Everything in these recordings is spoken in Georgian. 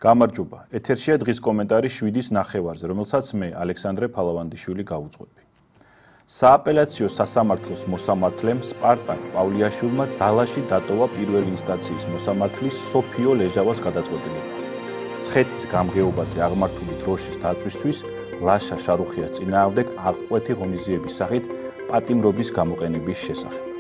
გამარჯობა. ეთერშია დღის კომენტარი 7-ის ნახევარზე, რომელსაც მე, ალექსანდრე ფალავანდიშვილი გავუძღვები. სააპელაციო სასამართლოს მოსამართლემ სპარტაკ პავლიაშვილმა ძალაში დატოვა პირველი ინსტანციის მოსამართლის სოფიო ლეჟავას გადაწყვეტილება. ცხეთის გამგეობაზე აღმართული დროშის დაწვისთვის ლაშა შარუხიას წინააღმდეგ აღკვეთი ღონისძიების სახით პატიმრობის გამოყენების შესახებ.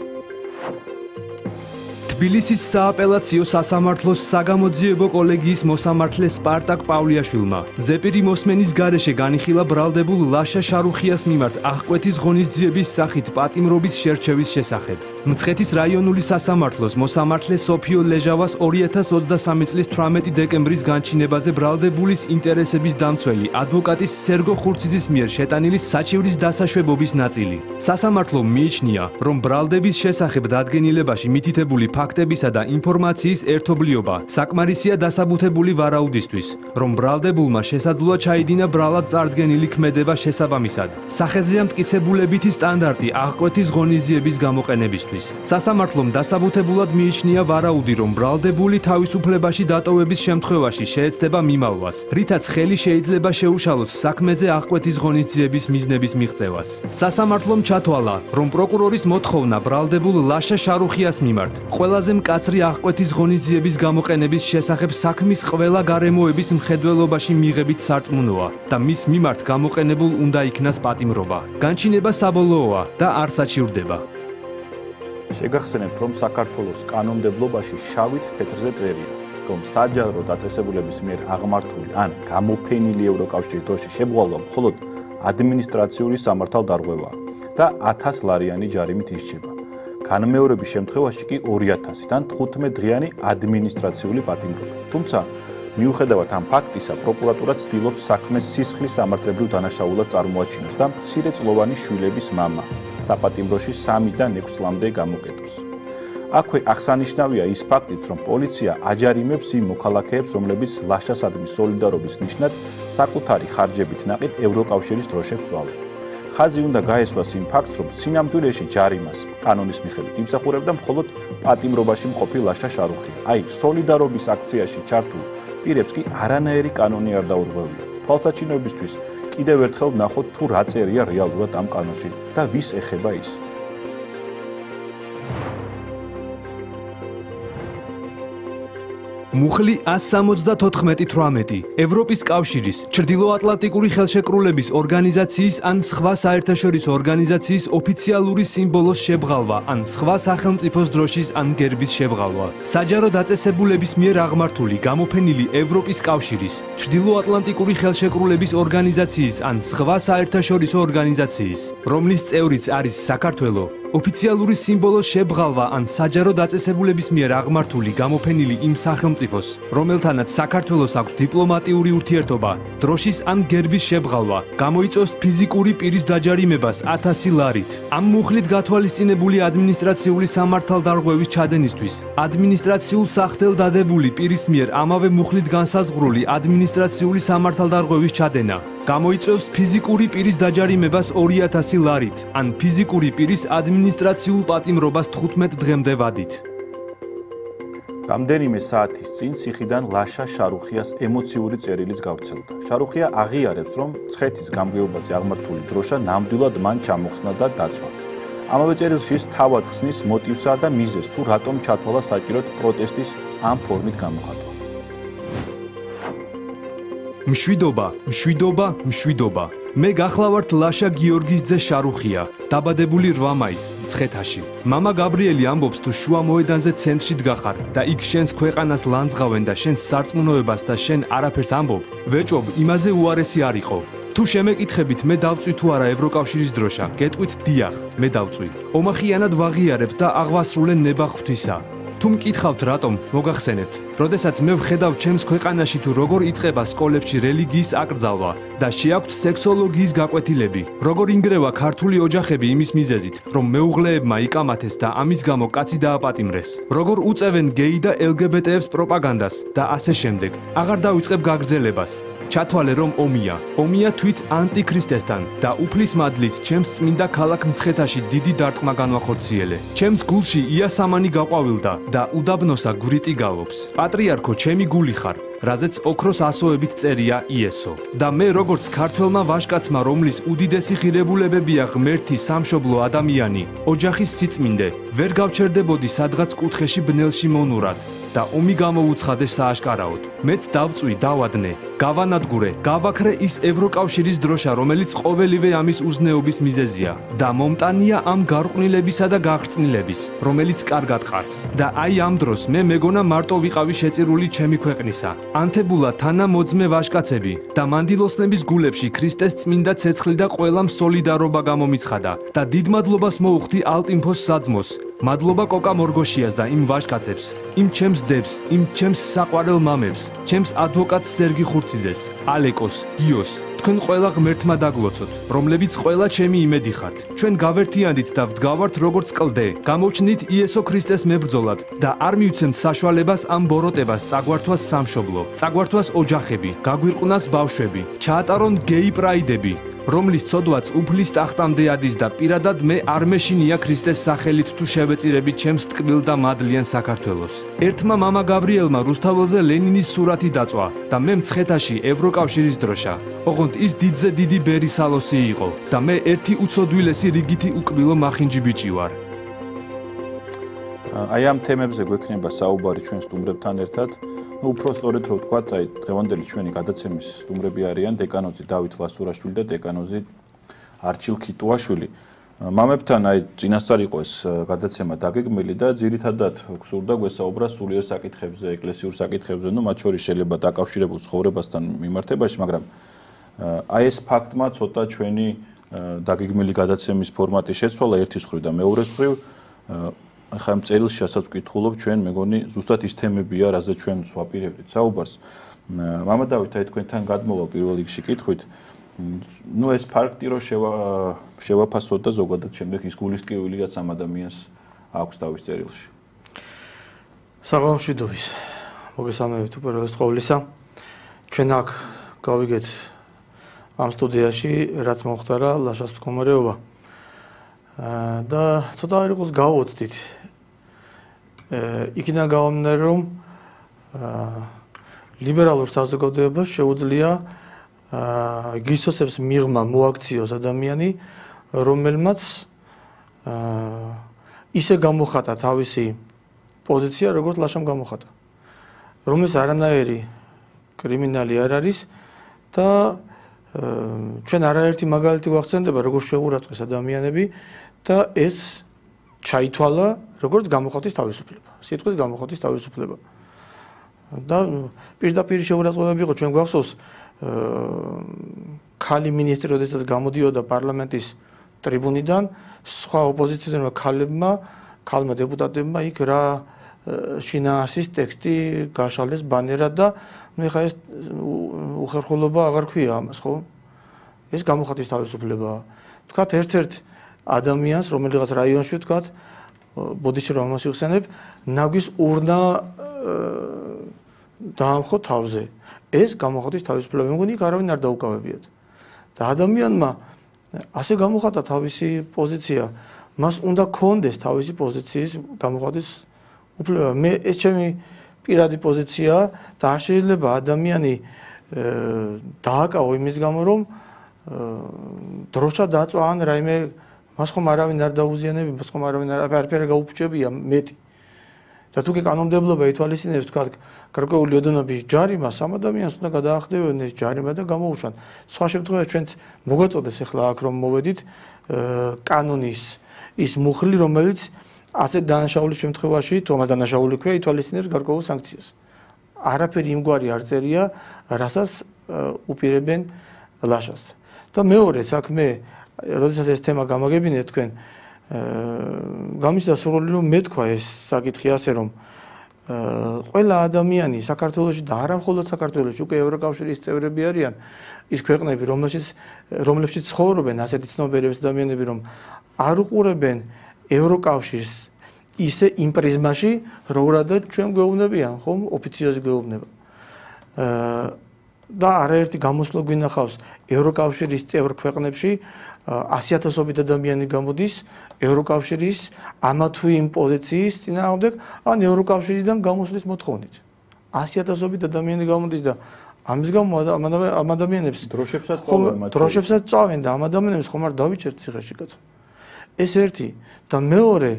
თბილისის სააპელაციო სასამართლოს საგამოძიებო კოლეგიის მოსამართლე სპარტაკ პავლიაშვილმა ზეპირი მოსმენის გარეშე განიხილა ბრალდებულ ლაშა შარუხიას მიმართ აღკვეთის ღონისძიების სახით პატიმრობის შერჩევის შესახებ. მცხეთის რაიონული სასამართლოს მოსამართლე სოფიო ლეჟავას 2023 წლის 18 დეკემბრის განჩინებაზე ბრალდებულის ინტერესების დამცველი ადვოკატის სერგო ხურციძის მიერ შეტანილი საჩივრის დასაშვებობის ნაწილი. სასამართლომ მიიჩნია, რომ ბრალდების შესახებ დადგენილებაში მითითებული ფაქტებისა და ინფორმაციის ერთობლიობა საკმარისია დასაბუთებული ვარაუდისთვის, რომ ბრალდებულმა შესაძლოა ჩაიდინა ბრალად წარდგენილი ქმედება შესაბამისად. სახეზეა მტკიცებულებითი სტანდარტი აღკვეთის ღონისძიების გამოყენებისთვის. სასამართლომ დასაბუთებულად მიიჩნია ვარაუდი, რომ ბრალდებული თავისუფლებაში დატოვების შემთხვევაში შეეცდება მიმალვას, რითაც ხელი შეიძლება შეუშალოს საქმეზე აღკვეთის ღონისძიების მიზნების მიღწევას. სასამართლომ ჩათვალა, რომ პროკურორის მოთხოვნა ბრალდებულ ლაშა შარუხიას მიმართ ყველაზე მკაცრი აღკვეთის ღონისძიების გამოყენების შესახებ საქმის ყველა გარემოების მხედველობაში მიღებით სარწმუნოა და მის მიმართ გამოყენებულ უნდა იქნას პატიმრობა. განჩინება საბოლოოა და არ საჩივრდება. შეგახსენებთ, რომ საქართველოს კანონმდებლობაში შავით თეთრზე წერია, რომ საჯარო დაწესებულების მიერ აღმართული ან გამოფენილი ევროკავშირის დროშის შემღვალვა მხოლოდ ადმინისტრაციული სამართალდარღვევაა და 1000 ლარიანი ჯარიმით ისჯება. განმეორების შემთხვევაში კი 2000 ან 15 დღიანი ადმინისტრაციული პატიმრობა. თუმცა, მიუხედავად ამ ფაქტისა, პროკურატურა ცდილობს საქმეს სისხლის სამართლებრივ დანაშაულად წარმოაჩინოს და მცირეწლოვანი შვილების მამა საპატიმროში 3-დან 6 წლამდე გამოკეტოს. აქვე აღსანიშნავია ის ფაქტიც, რომ პოლიცია აჯარიმებს იმ მოქალაქეებს, რომლებიც ლაშასადმი სოლიდარობის ნიშნად საკუთარი ხარჯებით ნაყიდ ევროკავშირის დროშებს წვავენ. ხაზი უნდა გაესვას იმ ფაქტს, რომ სინამდვილეში ჯარიმას კანონის მიხედვით იმსახურებდა მხოლოდ პატიმრობაში მყოფი ლაშა შარუხია. აი, სოლიდარობის აქციაში ჩართულ პირებს კი არანაირი კანონი არ დაურღვევია. თვალსაჩინოებისთვის კიდევ ერთხელ ვნახოთ თუ რა წერია რეალურად ამ კანონში და ვის ეხება ის. მუხლი 174-18 ევროპის კავშირის, ჩრდილოატლანტიკური ხელშეკრულების ორგანიზაციის ან სხვა საერთაშორისო ორგანიზაციის ოფიციალური სიმბოლოს შებრალვა ან სხვა სახელმწიფოს დროშის ან გერბის შებრალვა. საჯარო დაწესებულების მიერ აღმართული გამოფენილი ევროპის კავშირის, ჩრდილოატლანტიკური ხელშეკრულების ორგანიზაციის ან სხვა საერთაშორისო ორგანიზაციის, რომლის წევრიც არის საქართველო, ოფიციალური სიმბოლოს შებრალვა ან საჯარო დაწესებულების მიერ აღმართული გამოფენილი იმ სახელმწიფოს, რომელთანაც საქართველოს აქვს დიპლომატიური ურთიერთობა, დროშის ან გერბის შებრალვა, გამოიწვევს ფიზიკური პირის დაჯარიმებას 1000 ლარით. ამ მუხლით გათვალისწინებული ადმინისტრაციული სამართალდარღვევის ჩადენისთვის, ადმინისტრაციულ სახდელ დადებული პირის მიერ ამავე მუხლით განსაზღვრული ადმინისტრაციული სამართალდარღვევის ჩადენა გამოიწვევს ფიზიკური პირის დაჯარიმებას 2000 ლარით, ან ფიზიკური პირის ადმინისტრაციულ პატიმრობას 15 დღემდე ვადით. რამდენიმე საათის წინ ციხიდან ლაშა შარუხიას ემოციური წერილიც გავრცელდა. შარუხია აღიარებს, რომ ცხეთის გამგეობაზე აღმართული დროშა ნამდვილად მან ჩამოხსნა და დაწვა. ამავე წერილში ის თავად ხსნის მოტივსა და მიზეზს, თუ რატომ ჩათვალა საჭიროდ პროტესტის ამ ფორმით გამოხატვა. მშვიდობა. მე გახლავართ ლაშა გიორგის ძე შარუხია, დაბადებული 8 მაისს, მცხეთაში. მამა გაბრიელი ამბობს, თუ შუა მოედანზე ცენტრში დგახარ და იქ შენს ქვეყანას ლანძღავენ და შენს სარწმუნოებას და შენ არაფერს ამბობ, ვეჭობ, იმაზე უარესი არ იყო. თუ შემეკითხებით, მე დავწვი თუ არა ევროკავშირის დროშა, გეტყვით დიახ, მე დავწვი. ომახიანად ვაღიარებ და აღვასრულე ნება ღვთისა. თუ მკითხავთ რატომ, მოგახსენებთ, როდესაც მე ვხედავ ჩემს ქვეყანაში თუ როგორ იწყება სკოლებში რელიგიის აკრძალვა და შეაქვთ სექსოლოგიის გაკვეთილები, როგორ ინგრევა ქართული ოჯახები იმის მიზეზით, რომ მეუღლეებმა იკამათეს და ამის გამო კაცი დააპატიმრეს, როგორ უწევენ გეი და LGBT-ებს პროპაგანდას და ასე შემდეგ, აღარ დავიწყებ გაგრძელებას. ჩათვალე რომ ომია თვით ანტიქრისტესთან და უფლის მადლით ჩემს წმინდა ქალაქ მცხეთაში დიდი დარტყმა განვახორციელე. ჩემს გულში იასამანი გაყვავილდა და უდაბნოსა გვრიტი გალობს. პატრიარქო, ჩემი გული ხარ, რაზეც ოქროს ასოებით წერია იესო. და მე როგორც ქართველმა ვაჟკაცმა, რომლის უდიდესი ღირებულებებია ღმერთი, სამშობლო, ადამიანი, ოჯახის სიწმინდე, ვერ გავჩერდებოდი სადღაც კუთხეში ბნელში მონურად და ომი გამოვუცხადე სააშკარაოდ. მეც დავწვი, დავადნე, გავანადგურე, გავაქრე ის ევროკავშირის დროშა, რომელიც ყოველივე ამის უზნეობის მიზეზია და მომტანია ამ გარყვნილებისა და გახრწნილების, რომელიც კარგად ყარს. და აი ამ დროს მე მეგონა მარტო ვიყავი შეწირული ჩემი ქვეყნისა. ანთებულა თანამოძმე ვაჟკაცები და მანდილოსნების გულებში ქრისტეს წმინდა ცეცხლი და ყველამ სოლიდარობა გამომიცხადა და დიდ მადლობას მოუხდი ალტინფოს საძმოს. მადლობა კოკა მორგოშიას და იმ ვაჟკაცებს, იმ ჩემს დებს, იმ ჩემს საყვარელ მამებს, ჩემს ადვოკატს სერგი ხურციძეს, ალეკოს, გიოს, თქვენ ყველა ღმერთმა დაგლოცოთ, რომლებიც ყველა ჩემი იმედი ხართ. ჩვენ გავერთიანდით და ვდგავართ როგორც კლდე, გამოჩნდით იესო ქრისტეს მებრძოლად და არ მივცემთ საშუალებას ამ ბოროტებას წაგვართვას სამშობლო, წაგვართვას ოჯახები, გაგვირყვნას ბავშვები, ჩაატარონ გეი პრაიდები, რომლის ცოდვაც უფლის ტახტამდე ადის და პირადად მე არ მეშინია ქრისტეს სახელით თუ შევეწირებით ჩემს ტკბილ და მადლიან საქართველოს. ერთმა მამა გაბრიელმა რუსთაველზე ლენინის სურათი დაწვა და მე მცხეთაში ევროკავშირის დროშა. ოღონდ ის დიდზე დიდი ბერისალოსი იყო და მე ერთი უცოდვილესი რიგითი უკბილო მახინჯი ბიჭი ვარ. აი ამ თემებზე გვექნება საუბარი ჩვენ სტუმრებთან ერთად. უფრო სწორედ რო ვთქვათ, აი დღევანდელი ჩვენი გადაცემის სტუმრები არიან დეკანოზი დავით ლასურაშვილი და დეკანოზი არჩილ ქიტუაშვილი. მამებთან აი წინასწარ იყო ეს გადაცემა დაგეგმილი და ძირითადად გსურდა გვესაუბრა სულიერ საკითხებზე, ეკლესიურ საკითხებზე, ну მათ შორის შეიძლება დაკავშირებულ ცხოვრებასთან მიმართებაში, მაგრამ აი ეს ფაქტმა ცოტა ჩვენი დაგეგმილი გადაცემის ფორმატი შეცვალა ერთის მხრივ და მეორეს მხრივ ახლა ამ წერილში რასაც ვკითხულობ ჩვენ მეგონი ზუსტად ის თემებია, რაზეც ჩვენ ვაპირებდით საუბარს. მამა დავით, აი თქვენთან გადმოვა პირველ რიგში კითხვით. ну ეს ფაქტი რომ შევაფასოთ და ზოგადად შემდეგ ის გულისკევილიაც ამ ადამიანს აქვს თავის წერილში. საღამოშვიდობის. მოგესალმებით უპირველეს ყოვლისა. ჩვენ აქ გავიგეთ ამ სტუდიაში რაც მომხდარა ლაშას მდგომარეობა. და ცოტა არ იყოს გავოცდით. იქიდან გავამდინარე რომ ლიბერალურ საზოგადოებას შეუძლია გისოსებს მიღმა მოაქციოს ადამიანი, რომელმაც ისე გამოხატა თავისი პოზიცია, როგორც ლაშამ გამოხატა. რომელიც არანაირი კრიმინალი არ არის და ჩვენ არაერთი მაგალითი ვახსენდება, როგორც შეურაცხეს ადამიანები და ეს ჩაითვალა როგორც გამოხატვის თავისუფლება. სიტყვის გამოხატვის თავისუფლება. და პირდაპირ შეურაცხყოფები იყო, ჩვენ გვახსოვს ქალი მინისტრი, როდესაც გამოდიოდა პარლამენტის ტრიბუნიდან, სხვა ოპოზიციელმა ქალმა დეპუტატებმა იქ რა შინაარსის ტექსტი გაშალეს ბანერად და მე ხა ეს უხერხულობა აღარ ქვია ამას, ხო? ეს გამოხატვის თავისუფლებაა. თქვათ ერთ-ერთ ადამიანს, რომელიღაც რაიონში თქვათ, ბოდიში რომ ამას იხსენებ, ნაგვის урна დაამხო თავზე. ეს გამოხატვის თავისუფლება, მეგონი იქ არავინ არ დაუკავებიათ. და ადამიანმა ასე გამოხატა თავისი პოზიცია, მას უნდა კონდეს თავისი პოზიციის გამოხატვის უფლება. მე ეს ჩემი პირადი პოზიციაა და არ შეიძლება ადამიანი დააკავო იმის გამო, რომ დროშა დაწვა ან რაიმე მას ხომ არავინ არ დაუზიანებია, მას ხომ არავინ არაფერი გაუფრჩებია მეტი. და თუ კი კანონმდებლობა ითვალისწინებს თქვა გარკვეული ოდენობის ჯარიმას, ამ ადამიანს უნდა გადაახდევენ ეს ჯარიმა და გამოუშვან. სხვა შემთხვევაში ჩვენც მოგვაწოდეს ახლა აქ რომ მოვედით კანონის ის მუხლი, რომელიც ასეთ დანაშაულის შემთხვევაში, თუ ამას დანაშაული ქვია, ითვალისწინებს გარკვეულ სანქციას. არაფერი იმგვარი არ წერია, რასაც უპირებენ ლაშას. და მეორე საქმე, როდესაც ეს თემა გამაგებინეთ თქვენ, გამიჩნდა სურვილი რომ მეთქვა ეს საკითხი ასე რომ ყველა ადამიანი საქართველოში და არა მხოლოდ საქართველოში, უკვე ევროკავშირის წევრები არიან ის ქვეყნები, რომლებშიც ცხოვრობენ ასეთი ცნობიერების ადამიანები, რომ არ უყურებენ ევროკავშირს ისე იმ პრიზმაში, როგორადაც ჩვენ გვეუბნებიან, ხომ, ოფიციოზი გვეუბნება. და არაერთი გამოსვლა გვინახავს ევროკავშირის წევრ ქვეყნებში 100,000-ობით ადამიანი გამოდის ევროკავშირის ამა თუ იმ პოზიციის წინააღმდეგ ან ევროკავშირიდან გამოსვლის მოთხოვნით. 100,000-ობით ადამიანი გამოდის და ამის გამო ამ ადამიანებს დროშებსაც წავენ და ამ ადამიანებს ხომ არ დავიჭერთ ციხეში კაცო. ეს ერთი და მეორე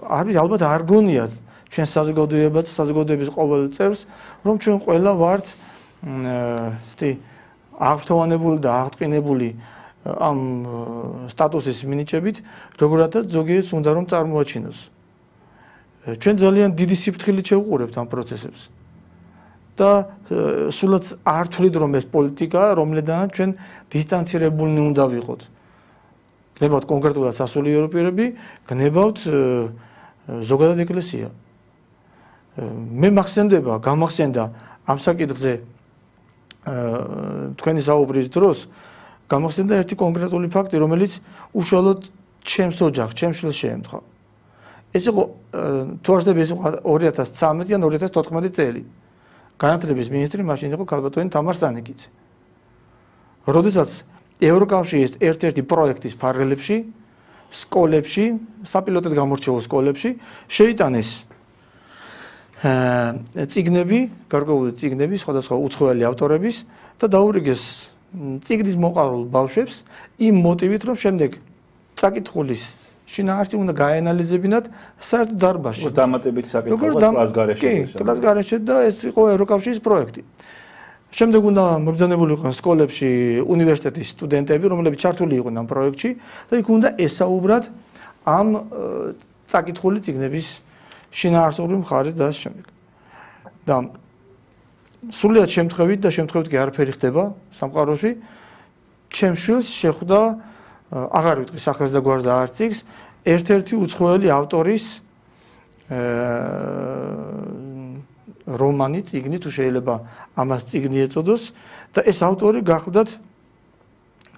არის ალბათ არ გონიათ ჩვენ საზოგადოებაც საზოგადოების ყოველ წევრს რომ ჩვენ ყველა ვართ აღფრთოვანებული და აღტყინებული ამ სტატუსის მინიჭებით, როგორთაც ზოგიერთს უნდა რომ წარმოაჩინოს. ჩვენ ძალიან დიდი სიფრთხილით შევუყურებთ ამ პროცესებს. და სულაც არ თვლით რომ ეს პოლიტიკაა, რომლიდანაც ჩვენ დისტანცირებულნი უნდა ვიყოთ. გნებავთ კონკრეტულად სასულიერო პირები, გნებავთ ზოგადად ეკლესია. მე მახსენდება, გამახსენდა ამ საკითხზე თქვენი საუბრის დროს გამახსენდა ერთი კონკრეტული ფაქტი, რომელიც უშუალოდ ჩემს ოჯახს, ჩემს შვილს შეემთხვა. ეს იყო თუ არ ვცდები, ეს იყო 2013 ან 2014 წელი. განათლების მინისტრი მაშინ იყო ქალბატონი თამარ სანიკიძე. როდესაც ევროკავშირის ერთ-ერთი პროექტის ფარგლებში, სკოლებში, საპილოტოდ გამორჩეულ სკოლებში შეიტანეს წიგნები, გარკვეული წიგნები, სხვადასხვა უცხოელი ავტორების და დაურიგეს წიგნის მოყარულ ბავშვებს იმ მოტივით, რომ შემდეგ წაკითხulis შინაარსი უნდა გაენალიზებინათ საერთო დარბაზში. დამატებით საკითხავს კლას გარეშე. კი, კლას გარეშე და ეს იყო ევროკავშირის პროექტი. შემდეგ უნდა მობრძანებული იყვნენ სკოლებში უნივერსიტეტის სტუდენტები, რომლებიც ჩართული იყვნენ ამ პროექტში და იქ უნდა ესაუბრათ ამ წაკითხული წიგნების შინაარსობრივ მხარეს და შემდეგ. და სულიად შემთხვევით და შემთხვევით კი არაფერი ხდება სამყაროში. ჩემს შვილს შეხვდა აღარ ვიტყვი სახელს და გვარს და არც იქს ერთ-ერთი უცხოელი ავტორის რომანი, წიგნი, თუ შეიძლება ამას წიგნი ეწოდოს და ეს ავტორი გახლდათ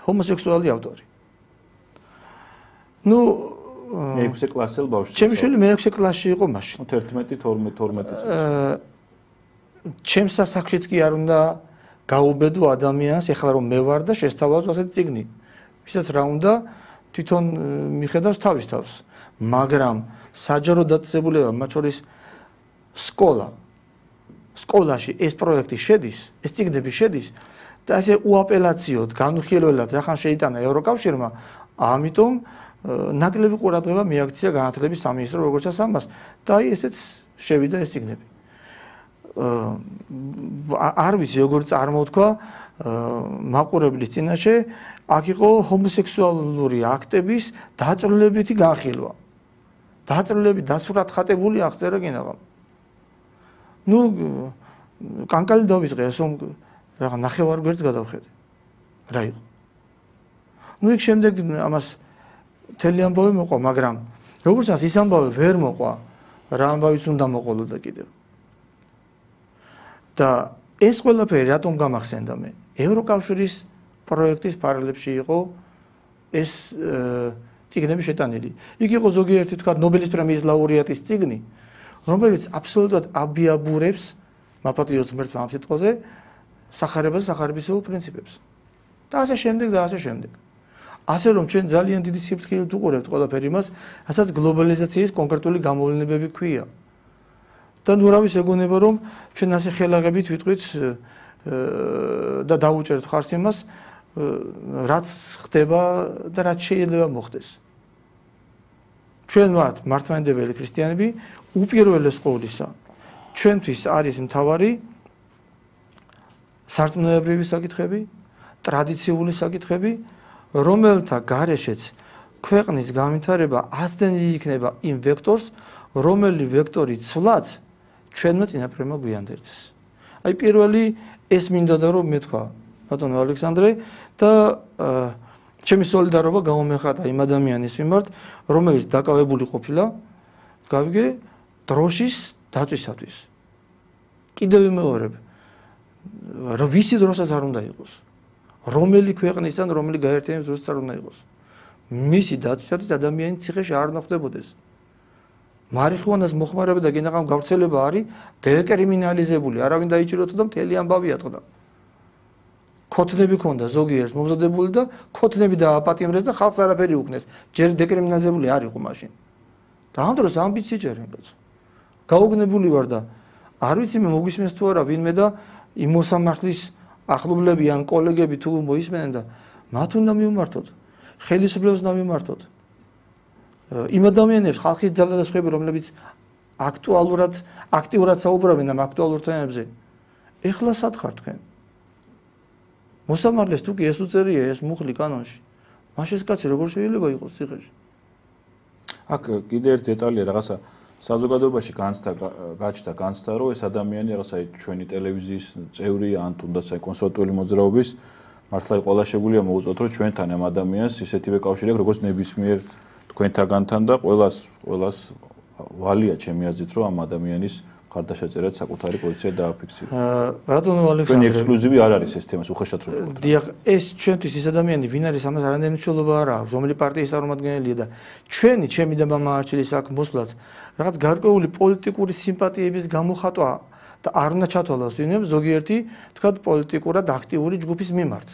ჰომოსექსუალი ავტორი. ნუ მე-6 კლასელ ბავშვი. ჩემი შვილი მე-6 კლასში იყო მაშინ. 11-12 წელს. ჩემს სასახლეშიც კი არ უნდა გაუბედო ადამიანს, ეხლა რომ მე ვარ და შესთავაზო ასეთი წიგნი. ვისაც რა უნდა თვითონ მიხედავს თავის თავს. მაგრამ საჯარო დაწესებულება, მათ შორის სკოლაში ეს პროექტი შედის, ეს წიგნები შედის და ესე უაპელაციოდ, განუხილველად რახან შეიტანა ევროკავშირმა, ამიტომ ნაკლები ყურადღება მიაქცია განათლების სამინისტრო როგორც ამას და აი ესეც შევიდა ეს წიგნები. არ ვიცი როგორ წარმოთქვა მაყურებლის წინაშე აქ იყო ჰომოსექსუალური აქტების დაწვრილებითი განხილვა. დაწვრილებით დასურათხატებული აღწერა გინაღამ. ნუ კანკალი დავიწყე ასო რაღა ნახევარ გვერდს გადავხედე. რა იყო? ნუ იქ შემდეგ ამას მთელი ამბავი მოყვა, მაგრამ როგორც ჩანს ის ამბავი ვერ მოყვა, რა ამბავიც უნდა მოყოლოდა კიდევ. და ეს ყველაფერი რატომ გამახსენდა მე? ევროკავშირის პროექტის პარალელში იყო ეს წიგნები შეტანილი. იქ იყო ზოგიერთი თქვა ნობელის პრემიის ლაურეატის წიგნი, რომელიც აბსოლუტურად აბიაბურებს მაპატიოს ღმერთს ამ სიტყვაზე სახარებას და სახარებისეულ პრინციპებს. და ასე შემდეგ და ასე შემდეგ. ასე რომ ჩვენ ძალიან დიდი სიფრთხილით უყურებთ ყველაფერი იმას, რასაც გლობალიზაციის კონკრეტული გამოვლენებები ქვია. და ნუ რა ვის ეგონება რომ ჩვენ ასე ხელაღებით ვიტყვით და დაუჭერთ ხარს იმას, რაც ხდება და რაც შეიძლება მოხდეს. ჩვენ ვართ მართლმადიდებელი ქრისტიანები, უპირველეს ყოვლისა ჩვენთვის არის მთავარი სარწმუნოებრივი საკითხები, ტრადიციული საკითხები, რომელთა გარეშეც ქვეყნის განვითარება ასდენილი იქნება იმ ვექტორს, რომელი ვექტორი ცვლაც ჩვენმა წინაპრებმა გვიანდერძეს. აი პირველი ეს მინდა და რომ მეთქვა ბატონო ალექსანდრე და ჩემი სოლიდარობა გამომეხატა იმ ადამიანის მიმართ, რომელიც დაკავებული ყოფილა გავიგე დროშის დაწვისათვის. კიდევ ვიმეორებ, რომ ვისი დროსაც არ უნდა იყოს. რომელი ქვეყნისთან, რომელი გაერთიანების დროსაც არ უნდა იყოს. მისი დაწვისათვის ადამიანის ციხეში არ უნდა ხდებოდეს. მარიხუანას მოხმარება და გინაღამ გავრცელება არის დეკრიმინალიზებული, არავინ დაიჭიროთ და მთელი ამბავი ატყდა. ქოთნები ქონდა ზოგიერთს მომზადებული და ქოთნები დააპატიმრეს და ხალხს არაფერი უკნეს. ჯერ დეკრიმინალიზებული არ იყო მაშინ. და ამ დროს ამბიცი ჯერენ კაცო. გაუგნებული ვარ და არ ვიცი მე მოგისმენს თუ არა ვინმე და იმ მოსამართლის ახლობლები ან კოლეგები თუ მოისმენენ და მათ უნდა მიუმართოთ, ხელისუფლებას უნდა მიუმართოთ. იმ ადამიანებს ხალხის ძალა და სხვები რომლებიც აქტიურად საუბრობენ ამ აქტუალურ თემებზე. ეხლა სად ხართ თქვენ? მოსამართლეს თუ კი ეს უწერია ეს მუხლი კანონში. მაშინ ეს კაცი როგორ შეიძლება იყოს ციხეში? აქ კიდე ერთი დეტალია რაღაცა საზოგადოებაში გაჩნდა განცდა რომ ეს ადამიანი რაღაცა ჩვენი ტელევიზიის წევრია ან თუნდაც აი კონსულტატული მოძრაობის მართლა ყველა შეგვიძლია მოუწოდოთ რომ ჩვენთან ამ ადამიანს ისეთივე კავშირი აქვს როგორც ნებისმიერ თქვენთაგანთან და ყველას ვალია ჩემი აზრით რომ ამ ადამიანის ხარდაშეწერად საკუთარი პოზიცია დააფიქსიროს. ბატონო ალექსანდრე, თქვენი ექსკლუზივი არ არის ეს თემას უხეშად რო ვთქვათ. დიახ, ეს ჩვენთვის ის ადამიანი ვინ არის ამას არანაირი მნიშვნელობა არ აქვს, რომელი პარტიის წარმომადგენელია და ჩემი და მამაარჩილის აქ მოსვლაც რაღაც გარკვეული პოლიტიკური სიმპათიების გამოხატვა და არ უნდა ჩათვალოს ვინმე ზოგიერთი თქვათ პოლიტიკურად აქტიური ჯგუფის მიმართ.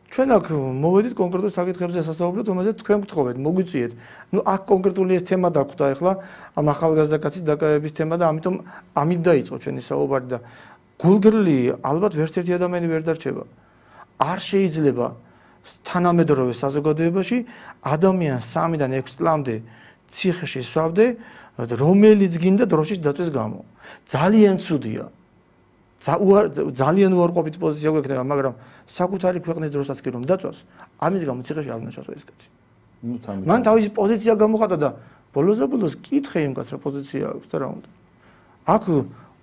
ჩვენ აქ მოვედით კონკრეტულ საკითხებზე სასაუბროთ, რომელზეც თქვენ გთხოვეთ, მოგვიწვიეთ. ნუ აქ კონკრეტული ეს თემა დაგვხვდა ახლა ამ ახალგაზრდა კაცის დაკავების თემა და ამიტომ ამით დაიწყო ჩვენი საუბარი და გულგრილი ალბათ ვერც ერთი ადამიანი ვერ დარჩება. არ შეიძლება თანამედროვე საზოგადოებაში ადამიანს 3-დან 6 წლამდე ციხეში სვავდე, რომელიც გინდა დროშის დაწვის გამო. ძალიან ცუდია. ძალიან უარყოფითი პოზიცია გვექნება, მაგრამ საკუთარი ქვეყნის დროსაც კი რომ დაწვას, ამის გამო ციხეში არ უნდა ჩასვა ეს კაცი. მან თავისი პოზიცია გამოხატა და ბოლოს კითხე იმ კაცს რა პოზიცია აქვს და რა უნდა. აქ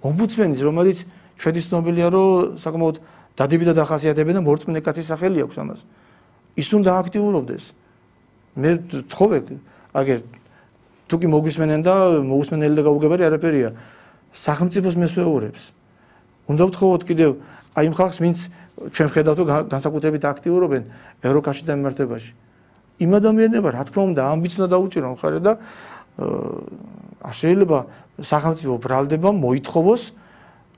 ომბუდსმენის, რომელიც ჩვენი ცნობილია, რომ საკმაოდ დადებითად ახასიათებენ და მორწმუნე კაცის სახელი აქვს ამას. ის უნდა აქტიურობდეს. მე თხოვე, აგერ თუ კი მოგვისმენენ და მოусმენელი და გაუგებარი არაფერია. სახელმწიფოს მესვეურებს უნდა ვთხოვოთ კიდევ აი იმ ხალხს, ვინც ჩვენ ხედავთ რომ განსაკუთრებით აქტიურობენ ევროკავშირის მიმართებაში. იმ ადამიანებმა რა თქმა უნდა ამბიც უნდა დაუჭირონ მხარე და შეიძლება სახელმწიფო ბრალდება მოითხოვოს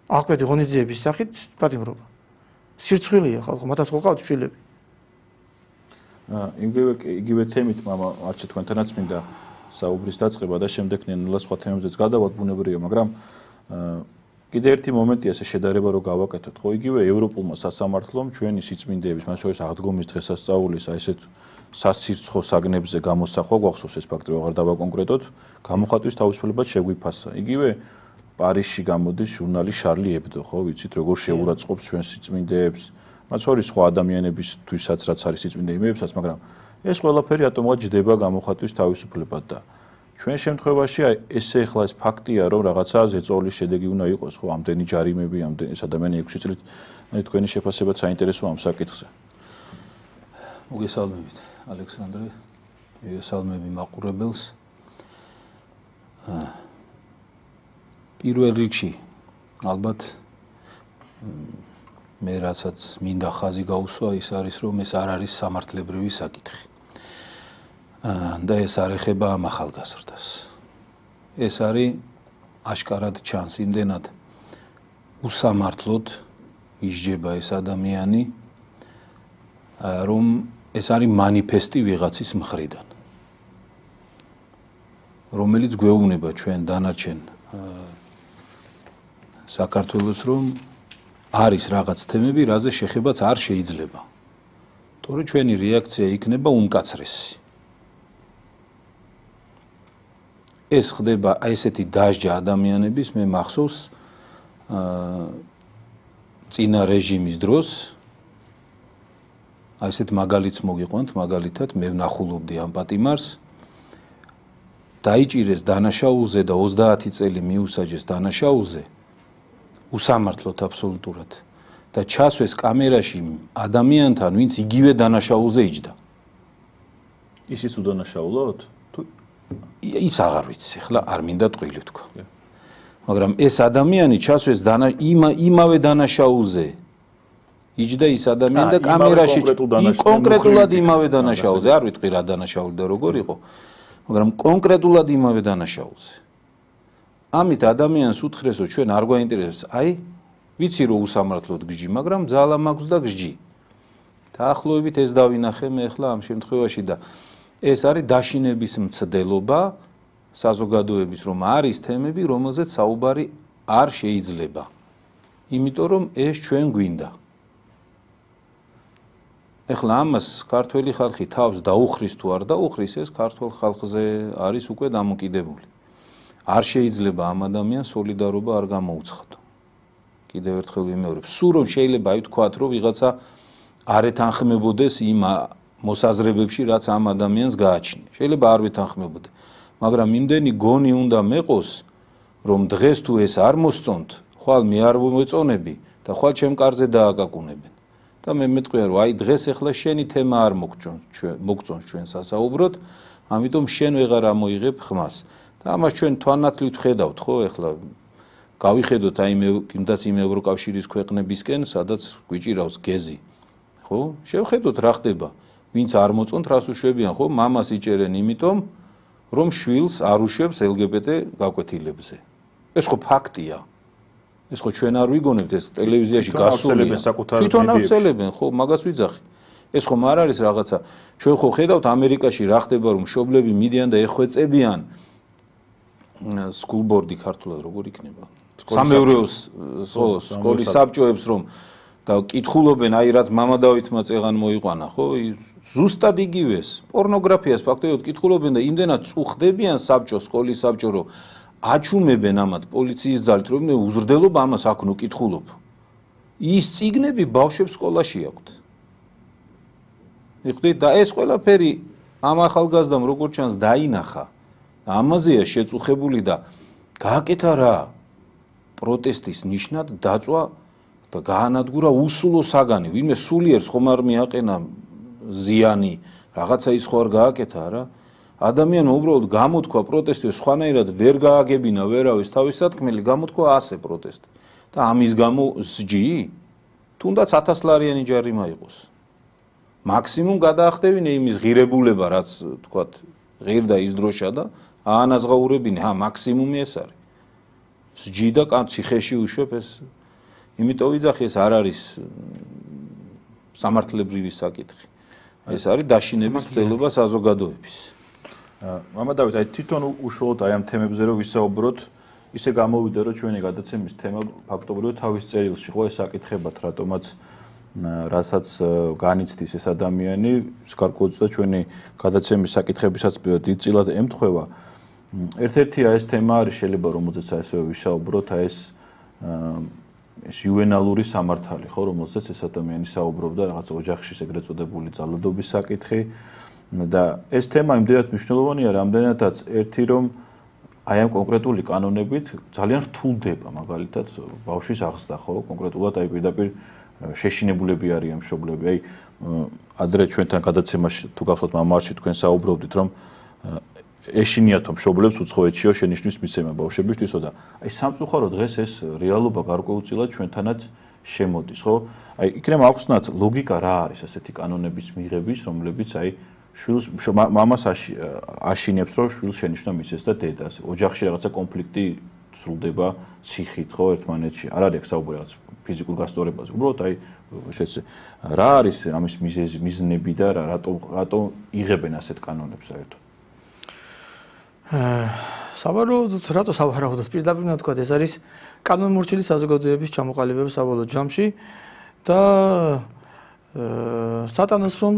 აღკვეთი ღონისძიების სახით პატიმრობა. სირცხვილია ხალხო, მათაც ხო ყავთ შვილები. იგივე თემით მამა არჩე თქვენთანაც მინდა საუბრის დაწყება და შემდეგ ნელა სხვა თემებზეც გადავალთ ბუნებრივია, მაგრამ კიდე ერთი მომენტია ესე შედარება რომ გავაკეთოთ, ხო იგივე ევროპულმა სასამართლომ ჩვენი სიწმინდეების, მათ შორის აღდგომის დღესასწაულის აი ესეთ სასირცხო საგნებზე გამოსახვა გვახსოვს ეს ფაქტი ვაღარ დავაკონკრეტოთ, გამოხატვის თავისუფლება შეგვიფასა. იგივე პარიზში გამოდის ჟურნალი შარლი ებდო, ხო ვიცით როგორ შეურაცხყოფს ჩვენ სიწმინდეებს, მათ შორის სხვა ადამიანებისთვისაც რაც არის სიწმინდე იმებსაც, მაგრამ ეს ყველაფერი ატომად ჯდება გამოხატვის თავისუფლებად და ჩვენ შემთხვევაში აი ესე ახლა ეს ფაქტია რომ რაღაცა ზეწოლის შედეგი უნდა იყოს ხო ამდენი ჯარიმები ამდენი ეს ადამიანი 6 წლით თქვენი შეფასებაც საინტერესოა ამ საკითხზე. მოგესალმებით ალექსანდრე, მოგესალმები მაყურებელს. პირველ რიგში ალბათ მე რასაც მინდა ხაზი გაუსვა ის არის რომ ეს არ არის სამართლებრივი საკითხი. და ეს არ ეხება ამ ახალგაზრდას. ეს არის აშკარად ჩანს იმდენად უსამართლოდ ისჯება ეს ადამიანი, რომ ეს არის მანიფესტი ვიღაცის მხრიდან, რომელიც გვეუბნება ჩვენ დანარჩენ საქართველოს, რომ არის რაღაც თემები, რაზე შეხებაც არ შეიძლება. თორე ჩვენი რეაქცია იქნება უმკაცრესი. ეს ხდება აი ესეთი დასჯა ადამიანების, მე მახსოვს წინა რეჟიმის დროს აი ესეთ მაგალითს მოგიყვანთ, მაგალითად მე ვნახულობდი ამ პატიმარს, დაიჭირეს დანაშაულზე და 30 წელი მიუსაჯეს დანაშაულზე, უსამართლოდ აბსოლუტურად და ჩასვეს კამერაში ადამიანთან, ვინც იგივე დანაშაულზე იჯდა. ისიც უდანაშაულოთ? ის აღარ ვიცი, ახლა არ მინდა ტყილი თქვა. მაგრამ ეს ადამიანი ჩასვეს იმავე დანაშაულზე. იჯდა ის ადამიანი და კამერაში კონკრეტულად იმავე დანაშაულზე, არ ვიტყვი რა დანაშაული და როგორ იყო, მაგრამ კონკრეტულად იმავე დანაშაულზე. ამით ადამიანს უთხრეს, რომ ჩვენ არ გვაინტერესებს, აი, ვიცი რომ უსამართლოდ გჯი, მაგრამ ძალა მაქვს და გჯი. დაახლოებით ეს დავინახე მე ახლა ამ შემთხვევაში და ეს არის დაშინების მცდელობა საზოგადოების, რომ არის თემები, რომელზეც საუბარი არ შეიძლება. იმიტომ რომ ეს ჩვენ გვინდა. ეხლა ამას ქართველი ხალხი თავს დაუხრის თუ არ დაუხრის, ეს ქართულ ხალხზე არის უკვე დამოკიდებული. არ შეიძლება ამ ადამიანს სოლიდარობა არ გამოუცხადო. კიდევ ერთხელ ვიმეორებ, სულ რომ შეიძლება ითქვათ, რომ ვიღაცა არ ეთანხმებოდეს იმ მოსაზრებებში, რაც ამ ადამიანს გააჩნია. შეიძლება არ ვეთანხმებოდე, მაგრამ იმდენი გონი უნდა მეყოს, რომ დღეს თუ ეს არ მოსწონთ, ხვალ მე არ მოეწონები და ხვალ ჩემ კარზე დააკაკუნებენ. და მე მეტყვია, რომ აი დღეს ახლა შენი თემა არ მოგწონს ჩვენ სასაუბროდ, ამიტომ შენ ვეღარ ამოიღებ ხმას. და ამას ჩვენ თვალნათლივ ვხედავთ, ხო, ახლა გავიხედოთ აი იმდაც იმ ევროკავშირის ქვეყნებისკენ, სადაც გვიჭირავს გეზი. ხო? შევხედოთ რა ხდება. ვინც არ მოწონთ, რას უშვებიან, ხო? მამას იჭერენ იმიტომ, რომ შვილს არ უშვებს LGBT გაკვეთილებზე. ეს ხო ფაქტია. ეს ხო ჩვენ არ ვიგონებთ, ეს ტელევიზიაში გასულია. თვითონ აღწელებენ, ხო, მაგას ვიძახი. ეს ხომ არ არის რაღაცა. ჩვენ ხო ხედავთ ამერიკაში რა ხდება, რომ მშობლები მიდიან და ეხვეწებიან სკულბორდი ქართულად როგორ იქნება? სამეურვეო სკოლის საბჭოებს რომ და კითხულობენ, აი რაც მამა დავითმა წეღან მოიყვანა, ხო? ზუსტად იგივეს. პორნოგრაფიას ფაქტობრივად კითხულობენ და იმდენად წუხდებიან საბჭო, სკოლის საბჭო, რომ აჩუმებენ ამათ პოლიციის ძალით, რომ უზრდელობ ამას აქ ნუ კითხულობ. ის წიგნები ბავშვებს სკოლაში აქვთ. მიხვდით და ეს ყველაფერი ამ ახალგაზრდამ როგორც ჩანს დაინახა. ამაზეა შეწუხებული და გააკეთა რა პროტესტის ნიშნად დაწვა და გაანადგურა უსულო საგანი. ვინმე სულიერს ხომ არ მიაყენა ზიანი, რაღაცა ის ხო არ გააკეთა რა. ადამიანმა უბრალოდ გამოთქვა პროტესტი, სხვანაირად ვერ გააგებინა ვერავის თავის სათქმელი, გამოთქვა ასე პროტესტი. და ამის გამო სჯი? თუნდაც 1000 ლარიანი ჯარიმა იყოს. მაქსიმუმ გადაახდევინე იმის ღირებულება, რაც თქვათ ღირდა ის დროშა და აანაზღაურებინე, მაქსიმუმი ეს არის. სჯი და ციხეში უშვებ ეს. იმიტომ ვიძახი, ეს არ არის სამართლებრივი საკითხი. ეს არის დაშინების ცდელობა საზოგადოების. მამა დავით, აი თვითონ უშუალოდ აი ამ თემებზე რომ ვისაუბროთ, ისე გამოვიდა, რომ ჩვენი გადაცემის თემა ფაქტობრივად თავის წერილში ხო ეს საკითხებად, რატომაც რასაც განიცდის ეს ადამიანი, სკარკოძა ჩვენი გადაცემის საკითხებისაც დიდწილად ემთხვევა. ერთ-ერთია ეს თემა არის, შეიძლება რომელზეც ასე ვისაუბროთ, აი ეს იუვენალური სამართალი, ხო, რომელზეც ეს ადამიანი საუბრობდა, რაღაც ოჯახში ეგრეთ წოდებული ძალადობის საკითხი. და ეს თემა იმდენად მნიშვნელოვანია, რამდენადაც ერთი რომ აი ამ კონკრეტული კანონებით ძალიან რთულდება, მაგალითად ბავშვის აღზრდა, ხო, კონკრეტულად აი პირდაპირ შეშინებულები არიან მშობლები. აი ადრე ჩვენთან გადაცემაში თუ გახსოვთ მამარში თქვენ საუბრობდით, რომ ეშინიათო მშობლებს უცხოეთშიო შენიშვნის მიცემა ბავშვებისთვისო და აი სამწუხარო დღეს ეს რეალობა გარკვეულწილად ჩვენთანაც შემოდის, ხო? აი იქნებ აუხსნათ ლოგიკა რა არის ასეთი კანონების მიღების, რომლებიც აი შვილს მამას აშინებს, რომ შვილს შენიშვნა მისცეს და დედას. ოჯახში რაღაცა კონფლიქტი სრულდება ციხით, ხო, ერთმანეთში. არ არის საუბარი რაღაც ფიზიკურ გასწორებაზე. უბრალოდ აი შეცე რა არის ამის მიზნები და რატო იღებენ ასეთ კანონებს საერთოდ? სავარაუდოდ, რატო სავარაუდოდ პირდაპირ ვთქვა, ეს არის კანონმორჩილი საზოგადოების ჩამოყალიბება საბოლოო ჯამში და სატანას რომ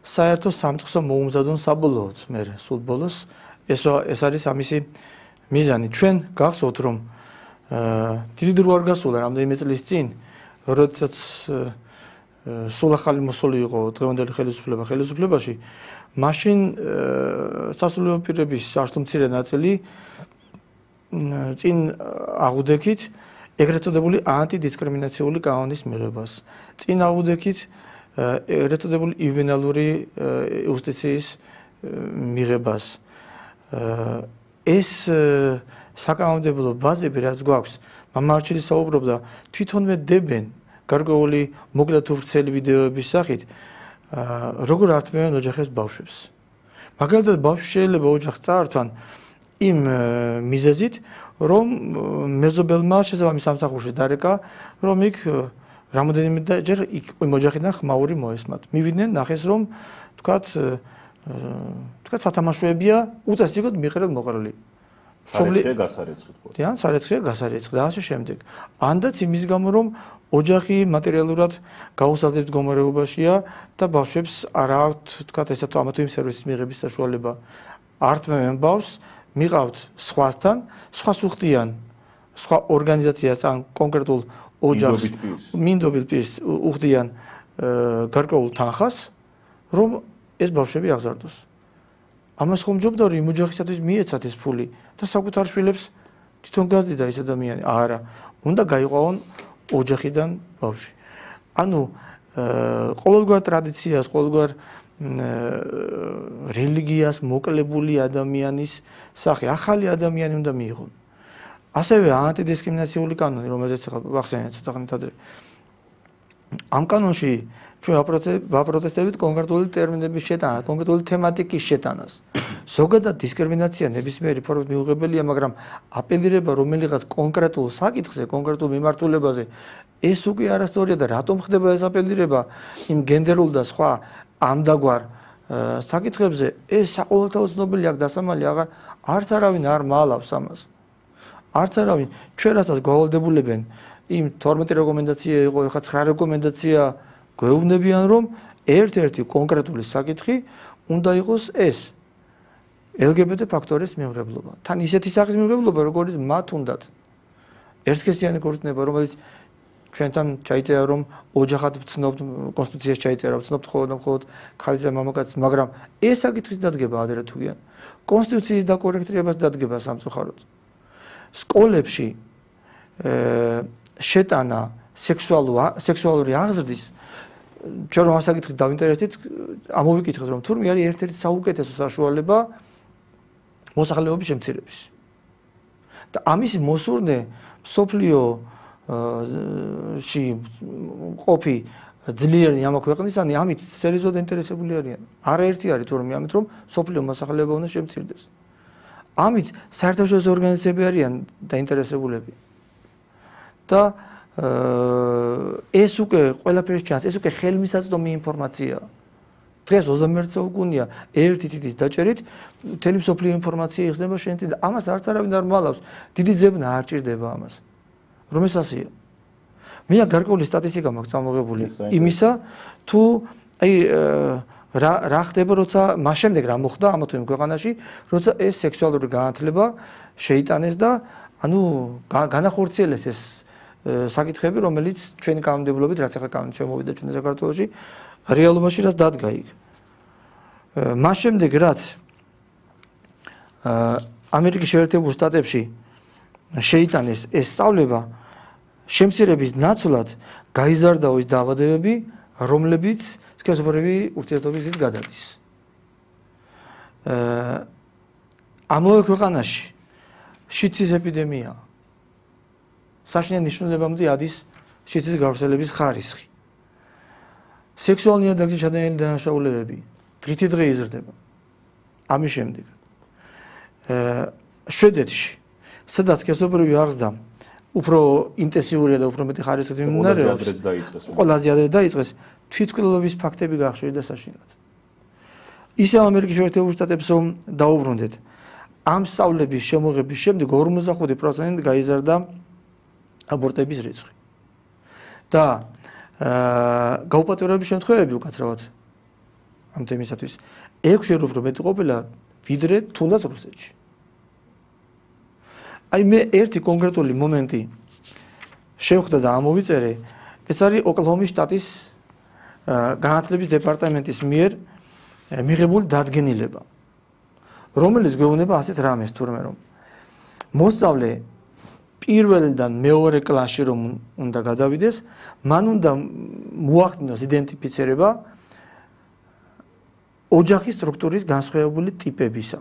საერთო სამწყსო მოუმზადონ საბოლოოდ მე სულ ბოლოს ეს არის ამისი მიზანი. ჩვენ გახსოვთ რომ დიდი დრო არ გასულა რამდენიმე წლის წინ, როდესაც სულ ახალი მოსული იყო დღევანდელი ხელისუფლებაში, მაშინ სასულიერო პირების არც მცირე ნაწილი წინ აღუდექით ეგრეთ წოდებული ანტიდისკრიმინაციული კანონის მიღებას. წინ აღუდექით ეგრეთ წოდებული იუვენალური იუსტიციის მიღებას. ეს საკანონმდებლო ბაზები რაც გვაქვს, მამარჩილი საუბრობდა, თვითონვე დებენ გარკვეული მოკლე თუ ვრცელი ვიდეოების სახით, როგორ ართმევენ ოჯახებს ბავშვებს. მაგალითად, ბავშვი შეიძლება ოჯახს წაართვან იმ მიზეზით, რომ მეზობელმა შესაბამის სამსახურში დარეკა, რომ იქ რამოდენიმეჯერ იმ ოჯახიდან ხმაური მოესმათ. მივიდნენ, ნახეს, რომ თქვათ სათამაშოებია უწესრიგოდ მიყრებ მოყრილი. სარეცხია გასარეცხით ხო? დიან სარეცხია გასარეცხი და ასე შემდეგ. ანდაც იმის გამო რომ ოჯახი მატერიალურად გაუსაზრდელ მდგომარეობაშია და ბავშვებს არ აქვთ თქვათ ესა თუ ამა თუ იმ სერვისის მიღების საშუალება. ართმევენ ბავშვს, მიყავთ სხვასთან, სხვას უხდიან სხვა ორგანიზაციას ან კონკრეტულ ოჯახს მინდობილ პირს უხდიან გარკვეულ თანხას, რომ ეს ბავშვები აღზარდოს. ამას ხომ ჯობდა რომ იმ ოჯახისათვის მიეცათ ეს ფული და საკუთარ შვილებს თვითონ გაზდიდა ეს ადამიანი. არა, უნდა გაიყვავონ ოჯახიდან ბავშვი. ანუ ყოველგვარ ტრადიციას, ყოველგვარ რელიგიას მოკლებული ადამიანის სახე, ახალი ადამიანი უნდა მიიღონ. ასევე ანტიდისკრიმინაციული კანონი, რომელზეც ახლა ვახსენეთ ცოტა ხნით ადრე. ამ კანონში ჩვენ ვაპროტესტებით კონკრეტული ტერმინების შეტანას, კონკრეტული თემატიკის შეტანას. ზოგადად დისკრიმინაცია ნებისმიერი ფორმით მიუღებელია, მაგრამ აპელირება რომელიღაც კონკრეტულ საკითხზე, კონკრეტულ მიმართულებაზე, ეს უკვე არასწორია და რატომ ხდება ეს აპელირება იმ გენდერულ და სხვა ამდაგვარ საკითხებზე, ეს საყოველთაო ცნობილი აქ დასამალი არც არავინ არ მალავს ამას. არც არავინ ჩვენ რასაც გავალდებულებენ იმ 12 რეკომენდაცია იყო, ეხლა 9 რეკომენდაცია გვეუბნებიან რომ ერთ-ერთი კონკრეტული საკითხი უნდა იყოს ეს LGBT ფაქტორის მიმღებლობა. თან ისეთი სახის მიმღებლობა, როგორც მათ უნდათ. ერთსქესიანი ქორწინება, რომელიც ჩვენთან ჩაიწერა რომ ოჯახად ვცნობთ, კონსტიტუციაში ჩაიწერა, ვცნობთ მხოლოდ ქალის და მამაკაცის, მაგრამ ეს საკითხის დადგება ადრე თუ გიან. კონსტიტუციის დაკორექტირებას დადგება სამწუხაროდ. სკოლებში შეტანა სექსუალური აღზრდის ჩვენ რომ ამ საკითხით დავინტერესდით, ამოვიკითხეთ რომ თურმე არის ერთ-ერთი საუკეთესო საშუალება მოსახლეობის შემცირების. და ამის მოსურნე სოფლიოში ყოფი ძლიერი ამა ქვეყნისანი ამით სერიოზულად ინტერესებული არიან. არაერთი არის თურმე ამით რომ სოფლიო მოსახლეობა უნდა შემცირდეს. ამით საერთაშორისო ორგანიზაციები არიან დაინტერესებულები. და ეს უკვე ყველაფერს ჩანს, ეს უკვე ხელმისაწვდომი ინფორმაციაა. დღეს 21 საუკუნეა, ერთი თითის დაჭერით მთელი მსოფლიო ინფორმაცია იხსნება შენ წინ და ამას არც არავინ არ მალავს. დიდი ძებნა არ ჭირდება ამას. რომ ეს ასეა. მე გარკვეული სტატისტიკა მაქვს წამოღებული იმისა, თუ აი რა ხდება, როცა მას შემდეგ რა მოხდა ამა თუ იმ ქვეყანაში, როცა ეს სექსუალური განათლება შეიტანეს და ანუ განახორციელეს ეს საკითხები, რომელიც ჩვენი კანონმდებლობით, რაც ახლა კანონით შემოვიდა ჩვენ საქართველოში, რეალობაში რაც დადგა იქ. მას შემდეგ რაც ამერიკის შეერთებულ შტატებში შეიტანეს ეს სწავლება, შემცირების ნაცვლად გაიზარდა ის დაავადებები, რომლებიც სქესობრივი ურთიერთობისით გადადის. ამავე ქვეყანაში შიცის ეპიდემია საშინელ ნიშნულებამდე ადის შიცის გავრცელების ხარისხი. სექსუალური ნიადაგზე შადენილი დანაშაულებები დღითი დღე იზრდება. ამის შემდეგ შვედეთში, სადაც სქესობრივი აღზრდა უფრო ინტენსიურია და უფრო მეტი ხარისხით მიმდინარეობს, ყველაზე ადრე დაიწყეს, თვითმკვლელობის ფაქტები გაახშოვდა საშინლად. ისე ამერიკის შეერთებულ შტატებს დაუბრუნდეთ. ამ სწავლების შემოღების შემდეგ 55% გაიზარდა აბორტების რიცხვი. და გაუპატეროების შემთხვევები უკაცრავად ამ თემისათვის 6-ში უფრო მეტი ყოფილა ვიდრე თუნდაც რუსეთში. აი მე ერთი კონკრეტული მომენტი შევხვდა და ამოვიწერე, ეს არის ოკლაჰომის შტატის განათლების დეპარტამენტის მიერ მიღებული დადგენილება, რომელიც გვეუბნება ასეთ რამეს თურმე რომ მოსწავლე პირველიდან მეორე კლასში რომ უნდა გადავიდეს, მან უნდა მოახდინოს იდენტიფიცირება ოჯახის სტრუქტურის განსხვავებული ტიპებისა.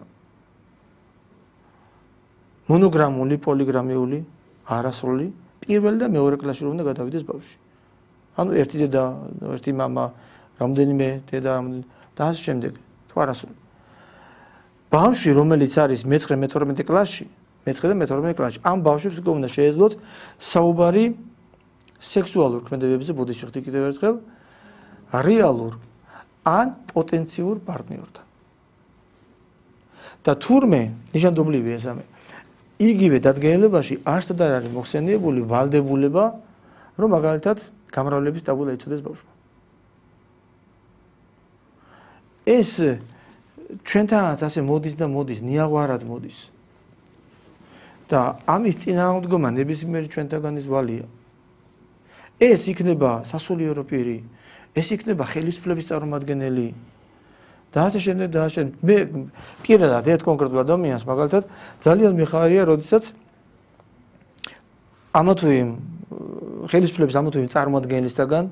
მონოგრამული, პოლიგრამიული, არასრული, პირველ და მეორე კლასში რომ უნდა გადავიდეს ბავშვი. ანუ ერთი დედა, ერთი მამა, რამდენიმე დედა და ასე შემდეგ, თუ არასრული. ბავშვი, რომელიც არის მე-12 კლასში, მე-9 და მე-12 კლასში, ამ ბავშვებს უკვე უნდა შეეძლოთ საუბარი სექსუალურ ქმედებებზე, ბოდიში ხდი კიდევ ერთხელ, რეალურ ან პოტენციურ პარტნიორთან. და თურმე ნიშანდობლივია ეს ამე. იგივე დადგენილებაში არსად არ არის მოხსენიებული ვალდებულება, რომ მაგალითად გამრავლების ტაბულა იცოდეს ბავშვმა. ეს ჩვენთანაც ასე მოდის და მოდის, ნიაღვარად მოდის. და ამის წინააღმდეგობა ნებისმიერი ჩვენთაგანის ვალია. ეს იქნება სასულიერო პირი, ეს იქნება ხელისუფლების წარმომადგენელი და ასე შემდეგ და ასე შემდეგ. მე პირადად ერთ კონკრეტულ ადამიანს მაგალითად ძალიან მიხარია, როდესაც ამა თუ იმ ხელისუფლების ამა თუ იმ წარმომადგენლისგან